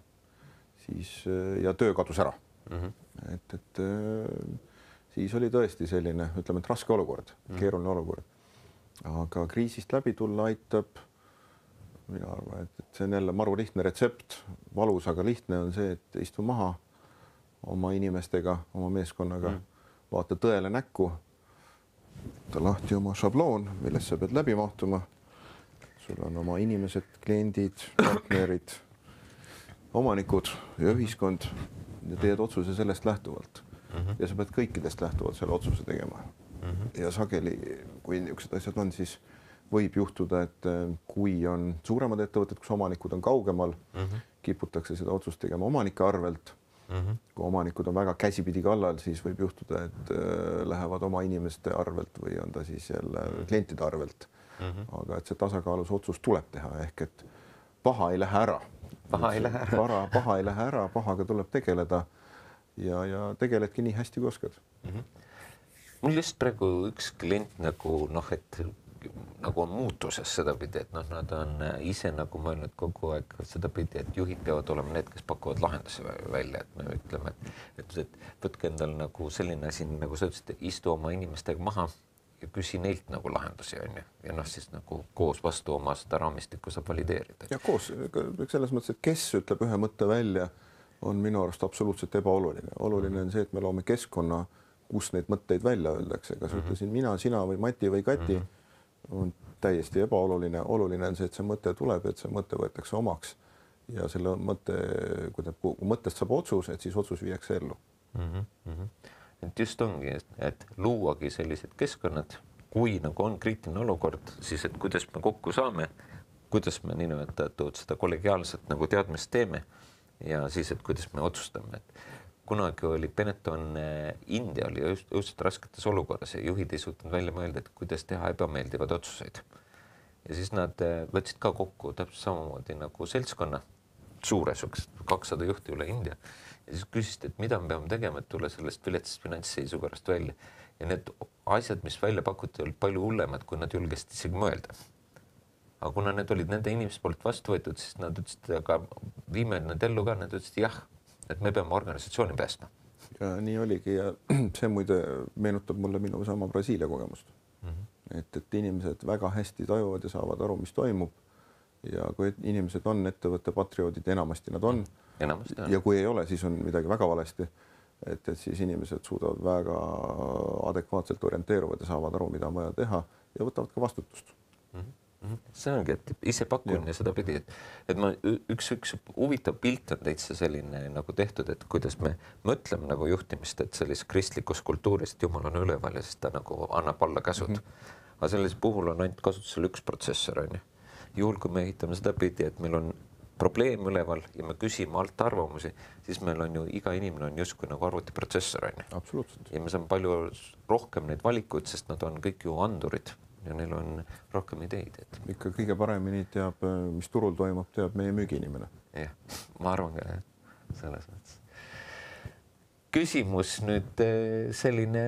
siis ja töö kadus ära. Mm-hmm. Et, et siis oli tõesti selline, ütleme, et raske olukord, mm-hmm. keeruline olukord. Aga kriisist läbi tulla aitab, mina arvan, et, et see on jälle maru lihtne retsept, valus, aga lihtne on see, et istu maha oma inimestega, oma meeskonnaga, mm. vaata tõele näkku, võta lahti oma šabloon, millest sa pead läbi mahtuma. Sul on oma inimesed, kliendid, partnerid, omanikud ja ühiskond ja teed otsuse sellest lähtuvalt. Mm-hmm. Ja sa pead kõikidest lähtuvalt selle otsuse tegema. Mm-hmm. Ja sageli, kui niisugused asjad on, siis võib juhtuda, et kui on suuremad ettevõtted, kus omanikud on kaugemal, mm-hmm. kiputakse seda otsust tegema omanike arvelt. Mm-hmm. Kui omanikud on väga käsipidi kallal, siis võib juhtuda, et lähevad oma inimeste arvelt või on ta siis jälle klientide arvelt. Mm-hmm. Aga et see tasakaalus otsus tuleb teha, ehk et paha ei lähe ära. Paha ei lähe ära. Paha, paha ei lähe ära, pahaga tuleb tegeleda ja, ja tegeledki nii hästi kui oskad. Mm-hmm. Mul just praegu üks klient nagu noh, et nagu on muutuses sedapidi, et noh, nad on ise nagu mõelnud kogu aeg sedapidi, et juhid peavad olema need, kes pakuvad lahendusi välja, et me ütleme, et, et, et võtke endal nagu selline asi, nagu sa ütlesid, istu oma inimestega maha ja küsi neilt nagu lahendusi, on ju. Ja noh, siis nagu koos vastu oma seda raamistikku saab valideerida. Ja koos, selles mõttes, et kes ütleb ühe mõtte välja, on minu arust absoluutselt ebaoluline. Oluline on see, et me loome keskkonna, kus neid mõtteid välja öeldakse, kas mm-hmm. ütlesin mina, sina või Mati või Kati, mm-hmm. on täiesti ebaoluline. Oluline on see, et see mõte tuleb, et see mõte võetakse omaks ja selle mõtte, kui ta mõttest saab otsus, et siis otsus viiakse ellu. Mm-hmm. Et just ongi, et luuagi sellised keskkonnad, kui nagu on kriitiline olukord, siis et kuidas me kokku saame, kuidas me niinimetatud seda kollegiaalset nagu teadmist teeme ja siis, et kuidas me otsustame, et kunagi oli Benetton, India oli just, just rasketes olukorras ja juhid ei suutnud välja mõelda, et kuidas teha ebameeldivad otsuseid. Ja siis nad võtsid ka kokku täpselt samamoodi nagu seltskonna, suures kakssada juhti üle India. Ja siis küsisid, et mida me peame tegema, et tulla sellest viletsast finantsseisu korrast välja. Ja need asjad, mis välja pakuti, olid palju hullemad, kui nad julgesid isegi mõelda. Aga kuna need olid nende inimeste poolt vastu võetud, siis nad ütlesid, aga viime need ellu ka, nad ütlesid jah, et me peame organisatsiooni päästma. Ja nii oligi ja see muide meenutab mulle minu sama Brasiilia kogemust. Mm-hmm. Et, et inimesed väga hästi tajuvad ja saavad aru, mis toimub. Ja kui inimesed on ettevõtte patrioodid, enamasti nad on. Enamasti on. Ja kui ei ole, siis on midagi väga valesti. Et, et siis inimesed suudavad väga adekvaatselt orienteeruvad ja saavad aru, mida on vaja teha ja võtavad ka vastutust. Mm-hmm. See ongi, et ise pakun ja, ja seda pidi, et, et ma üks, üks huvitav pilt on täitsa selline nagu tehtud, et kuidas me mõtleme nagu juhtimist, et sellises kristlikus kultuuris, et Jumal on üleval ja siis ta nagu annab alla käsud. Mm-hmm. Aga selles puhul on ainult kasutusel üks protsessor, on ju. Juhul, kui me ehitame seda pidi, et meil on probleem üleval ja me küsime alt arvamusi, siis meil on ju iga inimene on justkui nagu arvutiprotsessor, on ju. Absoluutselt. Ja me saame palju rohkem neid valikuid, sest nad on kõik ju andurid. Ja neil on rohkem ideid. Et... Ikka kõige paremini teab, mis turul toimub, teab meie müügiinimene. Jah, ma arvan ka selles mõttes. Küsimus nüüd selline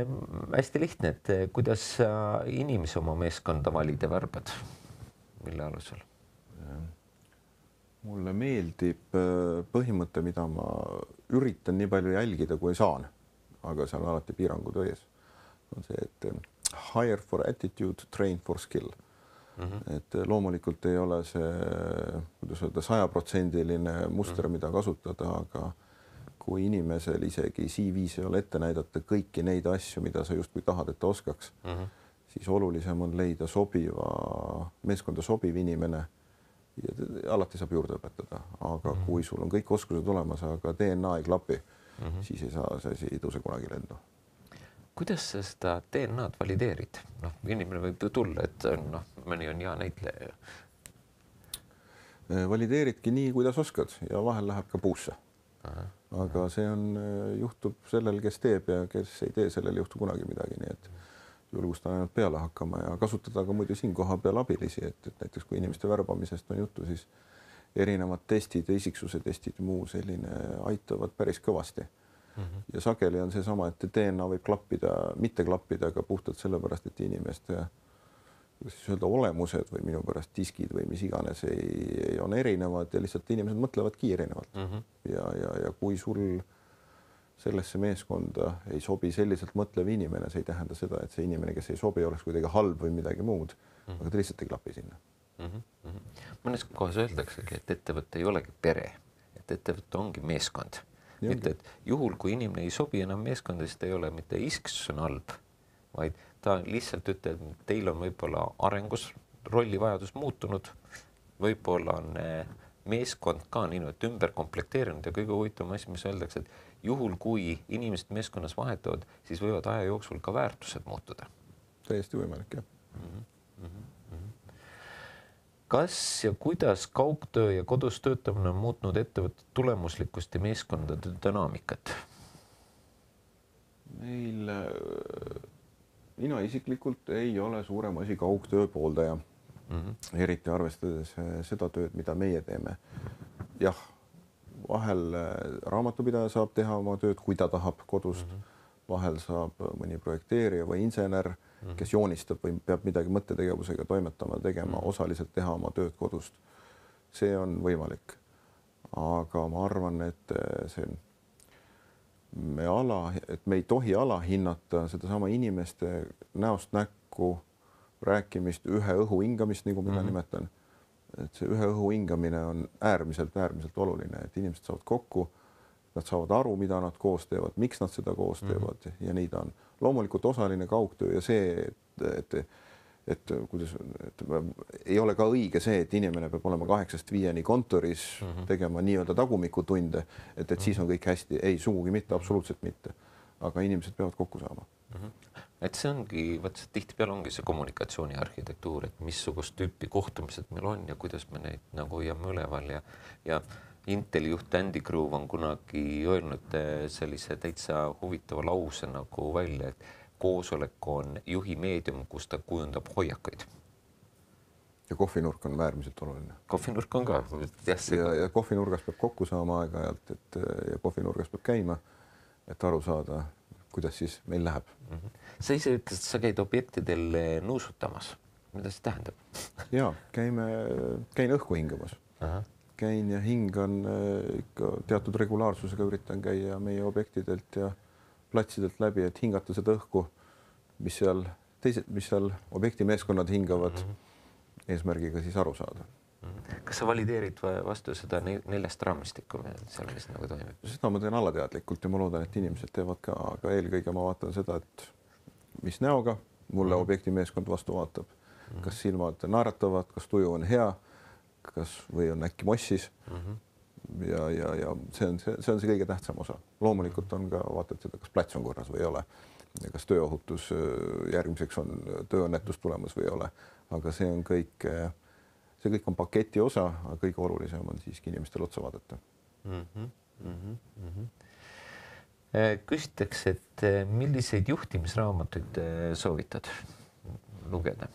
hästi lihtne, et kuidas sa inimesi oma meeskonda valid ja värbad? Mille alusel? Mulle meeldib põhimõte, mida ma üritan nii palju jälgida, kui saan, aga seal on alati piirangud ees. On see, et hire for attitude, train for skill. Mm-hmm. Et loomulikult ei ole see, kuidas öelda, sajaprotsendiline muster, mida kasutada, aga kui inimesel isegi C V-s ei ole ette näidata kõiki neid asju, mida sa justkui tahad, et ta oskaks, mm-hmm. siis olulisem on leida sobiva, meeskonda sobiv inimene ja alati saab juurde õpetada. Aga mm-hmm. kui sul on kõik oskused olemas, aga D N A ei klapi, mm-hmm. siis ei saa see asi ei tõuse kunagi lendu. Kuidas sa seda D N A-d valideerid? Noh, inimene võib ju tulla, et noh, mõni on hea näitleja. Valideeridki nii, kuidas oskad ja vahel läheb ka puusse. Aha. Aga see on, juhtub sellel, kes teeb ja kes ei tee, sellel juhtu kunagi midagi. Nii et julgustan ainult peale hakkama ja kasutada ka muidu siin koha peal abilisi, et, et näiteks kui inimeste värbamisest on juttu, siis erinevad testid, isiksuse testid ja muu selline aitavad päris kõvasti. Mm-hmm. Ja sageli on see sama, et D N A võib klappida, mitte klappida, aga puhtalt sellepärast, et inimeste siis öelda, olemused või minu pärast diskid või mis iganes ei, ei on erinevad ja lihtsalt inimesed mõtlevadki erinevalt. Mm-hmm. Ja, ja, ja kui sul sellesse meeskonda ei sobi selliselt mõtlev inimene, see ei tähenda seda, et see inimene, kes ei sobi, oleks kuidagi halb või midagi muud, mm-hmm. aga ta lihtsalt ei klapi sinna. Mm-hmm. Mõnes kohas öeldaksegi, et ettevõte ei olegi pere, et ettevõte ongi meeskond. Mitte, et juhul, kui inimene ei sobi enam meeskonda, siis ta ei ole mitte isksus on halb, vaid ta lihtsalt ütleb, et teil on võib-olla arengus rollivajadus muutunud, võib-olla on meeskond ka nii, et ümber komplekteerinud ja kõige huvitavam asi, mis öeldakse, et juhul, kui inimesed meeskonnas vahetavad, siis võivad aja jooksul ka väärtused muutuda. Täiesti võimalik, jah. Mm-hmm. Mm-hmm. Kas ja kuidas kaugtöö ja kodus töötamine on muutnud ettevõtte tulemuslikkust ja meeskondade dünaamikat? Meil, mina isiklikult ei ole suurem asi kaugtöö pooldaja. Mm-hmm. Eriti arvestades seda tööd, mida meie teeme. Jah, vahel raamatupidaja saab teha oma tööd, kui ta tahab kodust. Mm-hmm. Vahel saab mõni projekteerija või insener kes joonistab või peab midagi mõttetegevusega toimetama, tegema, osaliselt teha oma tööd kodust. See on võimalik. Aga ma arvan, et see me ala, et me ei tohi alahinnata sedasama inimeste näost näkku rääkimist, ühe õhu hingamist, nagu mina mm -hmm. nimetan. Et see ühe õhu hingamine on äärmiselt, äärmiselt oluline, et inimesed saavad kokku, nad saavad aru, mida nad koos teevad, miks nad seda koos teevad mm -hmm. ja nii ta on. Loomulikult osaline kaugtöö ja see, et, et, et kuidas, et ei ole ka õige see, et inimene peab olema kaheksast viieni kontoris mm -hmm. tegema nii-öelda tagumikutunde, et, et siis on kõik hästi. Ei, sugugi mitte, absoluutselt mitte. Aga inimesed peavad kokku saama. Mm -hmm. Et see ongi, võt see tihtipeale ongi see kommunikatsiooni arhitektuur, et missugust tüüpi kohtumised meil on ja kuidas me neid nagu hoiame üleval ja, ja Inteli juht Andy Grove on kunagi öelnud sellise täitsa huvitava lause nagu välja, et koosolek on juhi meedium, kus ta kujundab hoiakuid. Ja kohvinurk on äärmiselt oluline. Kohvinurk on ka. Ja, ja kohvinurgas peab kokku saama aeg-ajalt, et ja kohvinurgas peab käima, et aru saada, kuidas siis meil läheb. Mm -hmm. Sa ise ütlesid, et sa käid objektidel nuusutamas. Mida see tähendab? Jaa, käime, käin õhku hingamas. Aha. Käin ja hingan ikka teatud regulaarsusega, üritan käia meie objektidelt ja platsidelt läbi, et hingata seda õhku, mis seal, teised, mis seal objekti meeskonnad hingavad mm -hmm. eesmärgiga siis aru saada. Mm -hmm. Kas sa valideerid vastu seda neljast raamistikku seal, mis nagu toimib? Seda ma teen alateadlikult ja ma loodan, et inimesed teevad ka, aga eelkõige ma vaatan seda, et mis näoga mulle mm -hmm. objekti meeskond vastu vaatab. Mm -hmm. Kas silmad naeratavad, kas tuju on hea, kas või on äkki mossis mm. -hmm. ja, ja, ja see on see, see on see kõige tähtsam osa. Loomulikult on ka vaatad seda, kas plats on korras või ei ole. Ja kas tööohutus järgmiseks on tööõnnetus tulemas või ei ole. Aga see on kõik, see kõik on paketi osa, aga kõige olulisem on siiski inimestel otsa vaadata. Mm -hmm. Mm -hmm. Küsitakse, et milliseid juhtimisraamatuid soovitad lugeda?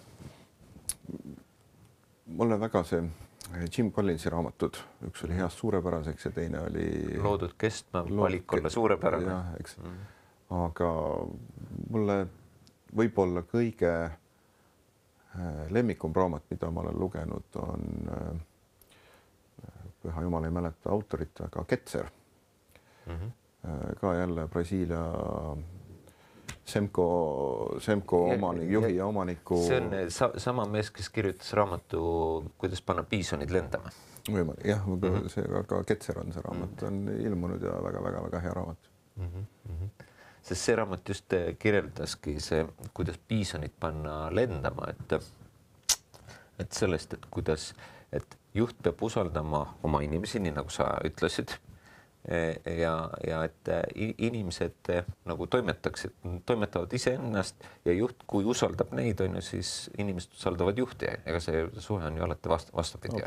Mulle väga see Jim Collinsi raamatud, üks oli Heast suurepäraseks ja teine oli Loodud kestma, valik olla suurepärane. Jah, eks. Mm. Aga mulle võib-olla kõige lemmikum raamat, mida ma olen lugenud, on püha jumal ei mäleta autorit, aga Ketzer. Mm -hmm. Ka jälle Brasiilia Semco, Semco omanik, juhi ja omaniku. See on sa, sama mees, kes kirjutas raamatu, kuidas panna piisonid lendama. Võimalik, jah, mm -hmm. see, aga Ketzer on see raamat, on ilmunud ja väga-väga-väga hea raamat. Mm -hmm. Sest see raamat just kirjeldaski see, kuidas piisonid panna lendama, et, et sellest, et kuidas, et juht peab usaldama oma inimesi, nii nagu sa ütlesid. Ja, ja et inimesed nagu toimetaksid, toimetavad iseennast ja juht, kui usaldab neid, on ju, siis inimesed usaldavad juhti. Ega see suhe on ju alati vast, vastupidi.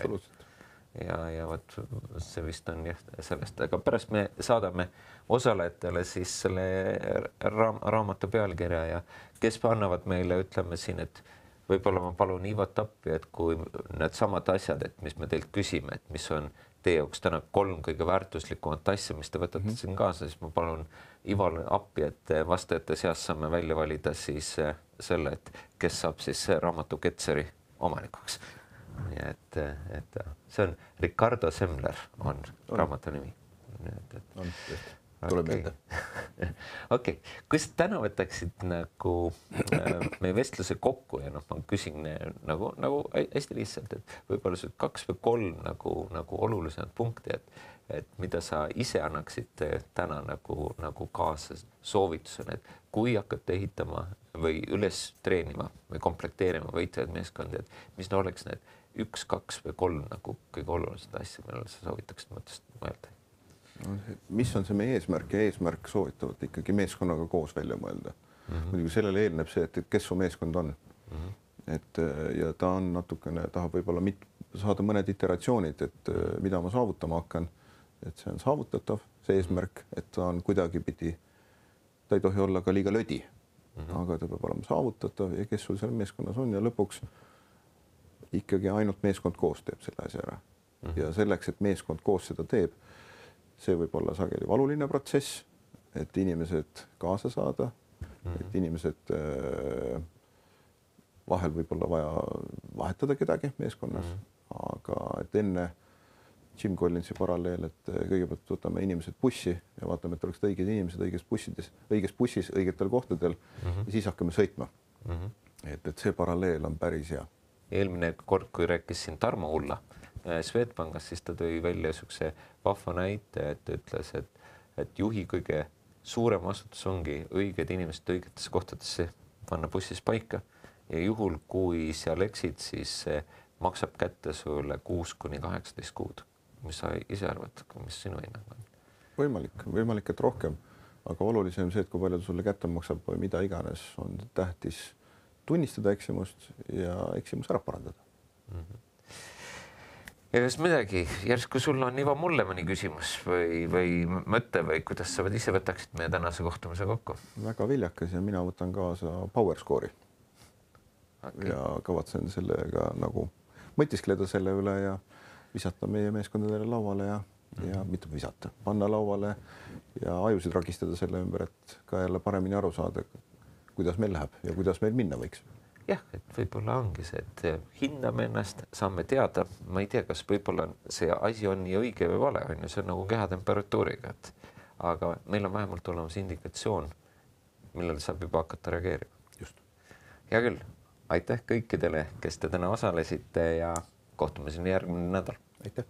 Ja, ja võt, see vist on jah sellest, aga pärast me saadame osalejatele siis selle raam, raamatu pealkirja ja kes annavad meile, ütleme siin, et võib-olla ma palun Ivat appi, et kui need samad asjad, et mis me teilt küsime, et mis on teie jaoks täna kolm kõige väärtuslikumat asja, mis te võtate mm -hmm. siin kaasa, siis ma palun Ivale appi, et vastajate seas saame välja valida siis selle, et kes saab siis raamatu Ketzeri omanikuks. Ja et, et see on Ricardo Semler on, on. raamatu nimi. Et, et. On, tuleb meelde. Okei, kui sa täna võtaksid nagu äh, meie vestluse kokku ja noh, ma küsin nagu, nagu hästi lihtsalt, et võib-olla see kaks või kolm nagu, nagu olulisemad punkti, et, et mida sa ise annaksid täna nagu, nagu kaasa soovitusena, et kui hakkate ehitama või üles treenima või komplekteerima võitlevaid meeskondi, et mis no oleks need üks, kaks või kolm nagu kõige olulisemad asja, millele sa soovitaksid mõttest mõelda? No, mis on see meie eesmärk ja eesmärk soovitavad ikkagi meeskonnaga koos välja mõelda. Mm -hmm. Muidugi sellele eelneb see, et kes su meeskond on. Mm -hmm. Et ja ta on natukene, tahab võib-olla mit, saada mõned iteratsioonid, et mida ma saavutama hakkan, et see on saavutatav, see eesmärk, et ta on kuidagipidi, ta ei tohi olla ka liiga lödi, mm -hmm. aga ta peab olema saavutatav ja kes sul seal meeskonnas on ja lõpuks ikkagi ainult meeskond koos teeb selle asja ära. Mm -hmm. Ja selleks, et meeskond koos seda teeb, see võib olla sageli valuline protsess, et inimesed kaasa saada, mm -hmm. et inimesed äh, vahel võib-olla vaja vahetada kedagi meeskonnas mm, -hmm. aga et enne Jim Collinsi paralleel, et kõigepealt võtame inimesed bussi ja vaatame, et oleks õiged inimesed õiges bussides, õiges bussis, õigetel kohtadel mm -hmm. ja siis hakkame sõitma mm. -hmm. et, et see paralleel on päris hea. Eelmine kord, kui rääkis siin Tarmo Ulla Swedbankast, siis ta tõi välja niisuguse vahva näite, et ütles, et, et juhi kõige suurem vastutus ongi õiged inimesed õigetesse kohtadesse panna bussis paika ja juhul, kui seal eksid, siis maksab kätte sulle kuus kuni kaheksateist kuud. Mis sa ise arvad, mis sinu hinnang on? Võimalik, võimalik, et rohkem, aga olulisem see, et kui palju ta sulle kätte maksab või mida iganes, on tähtis tunnistada eksimust ja eksimus ära parandada. Mm -hmm. Ja kas midagi, järsku sul on Ivo mulle mõni küsimus või, või mõte või kuidas sa ise võtaksid meie tänase kohtumise kokku? Väga viljakas ja mina võtan kaasa Power Score'i okay. ja kavatsen sellega nagu mõtiskleda selle üle ja visata meie meeskondadele lauale ja, ja mitte visata, panna lauale ja ajusid ragistada selle ümber, et ka jälle paremini aru saada, kuidas meil läheb ja kuidas meil minna võiks. Jah, et võib-olla ongi see, et hinname ennast, saame teada, ma ei tea, kas võib-olla see asi on nii õige või vale, on ju, see on nagu kehatemperatuuriga, et aga meil on vähemalt olemas indikatsioon, millele saab juba hakata reageerima. Just. Hea küll, aitäh kõikidele, kes te täna osalesite ja kohtume siin järgmine nädal. Aitäh.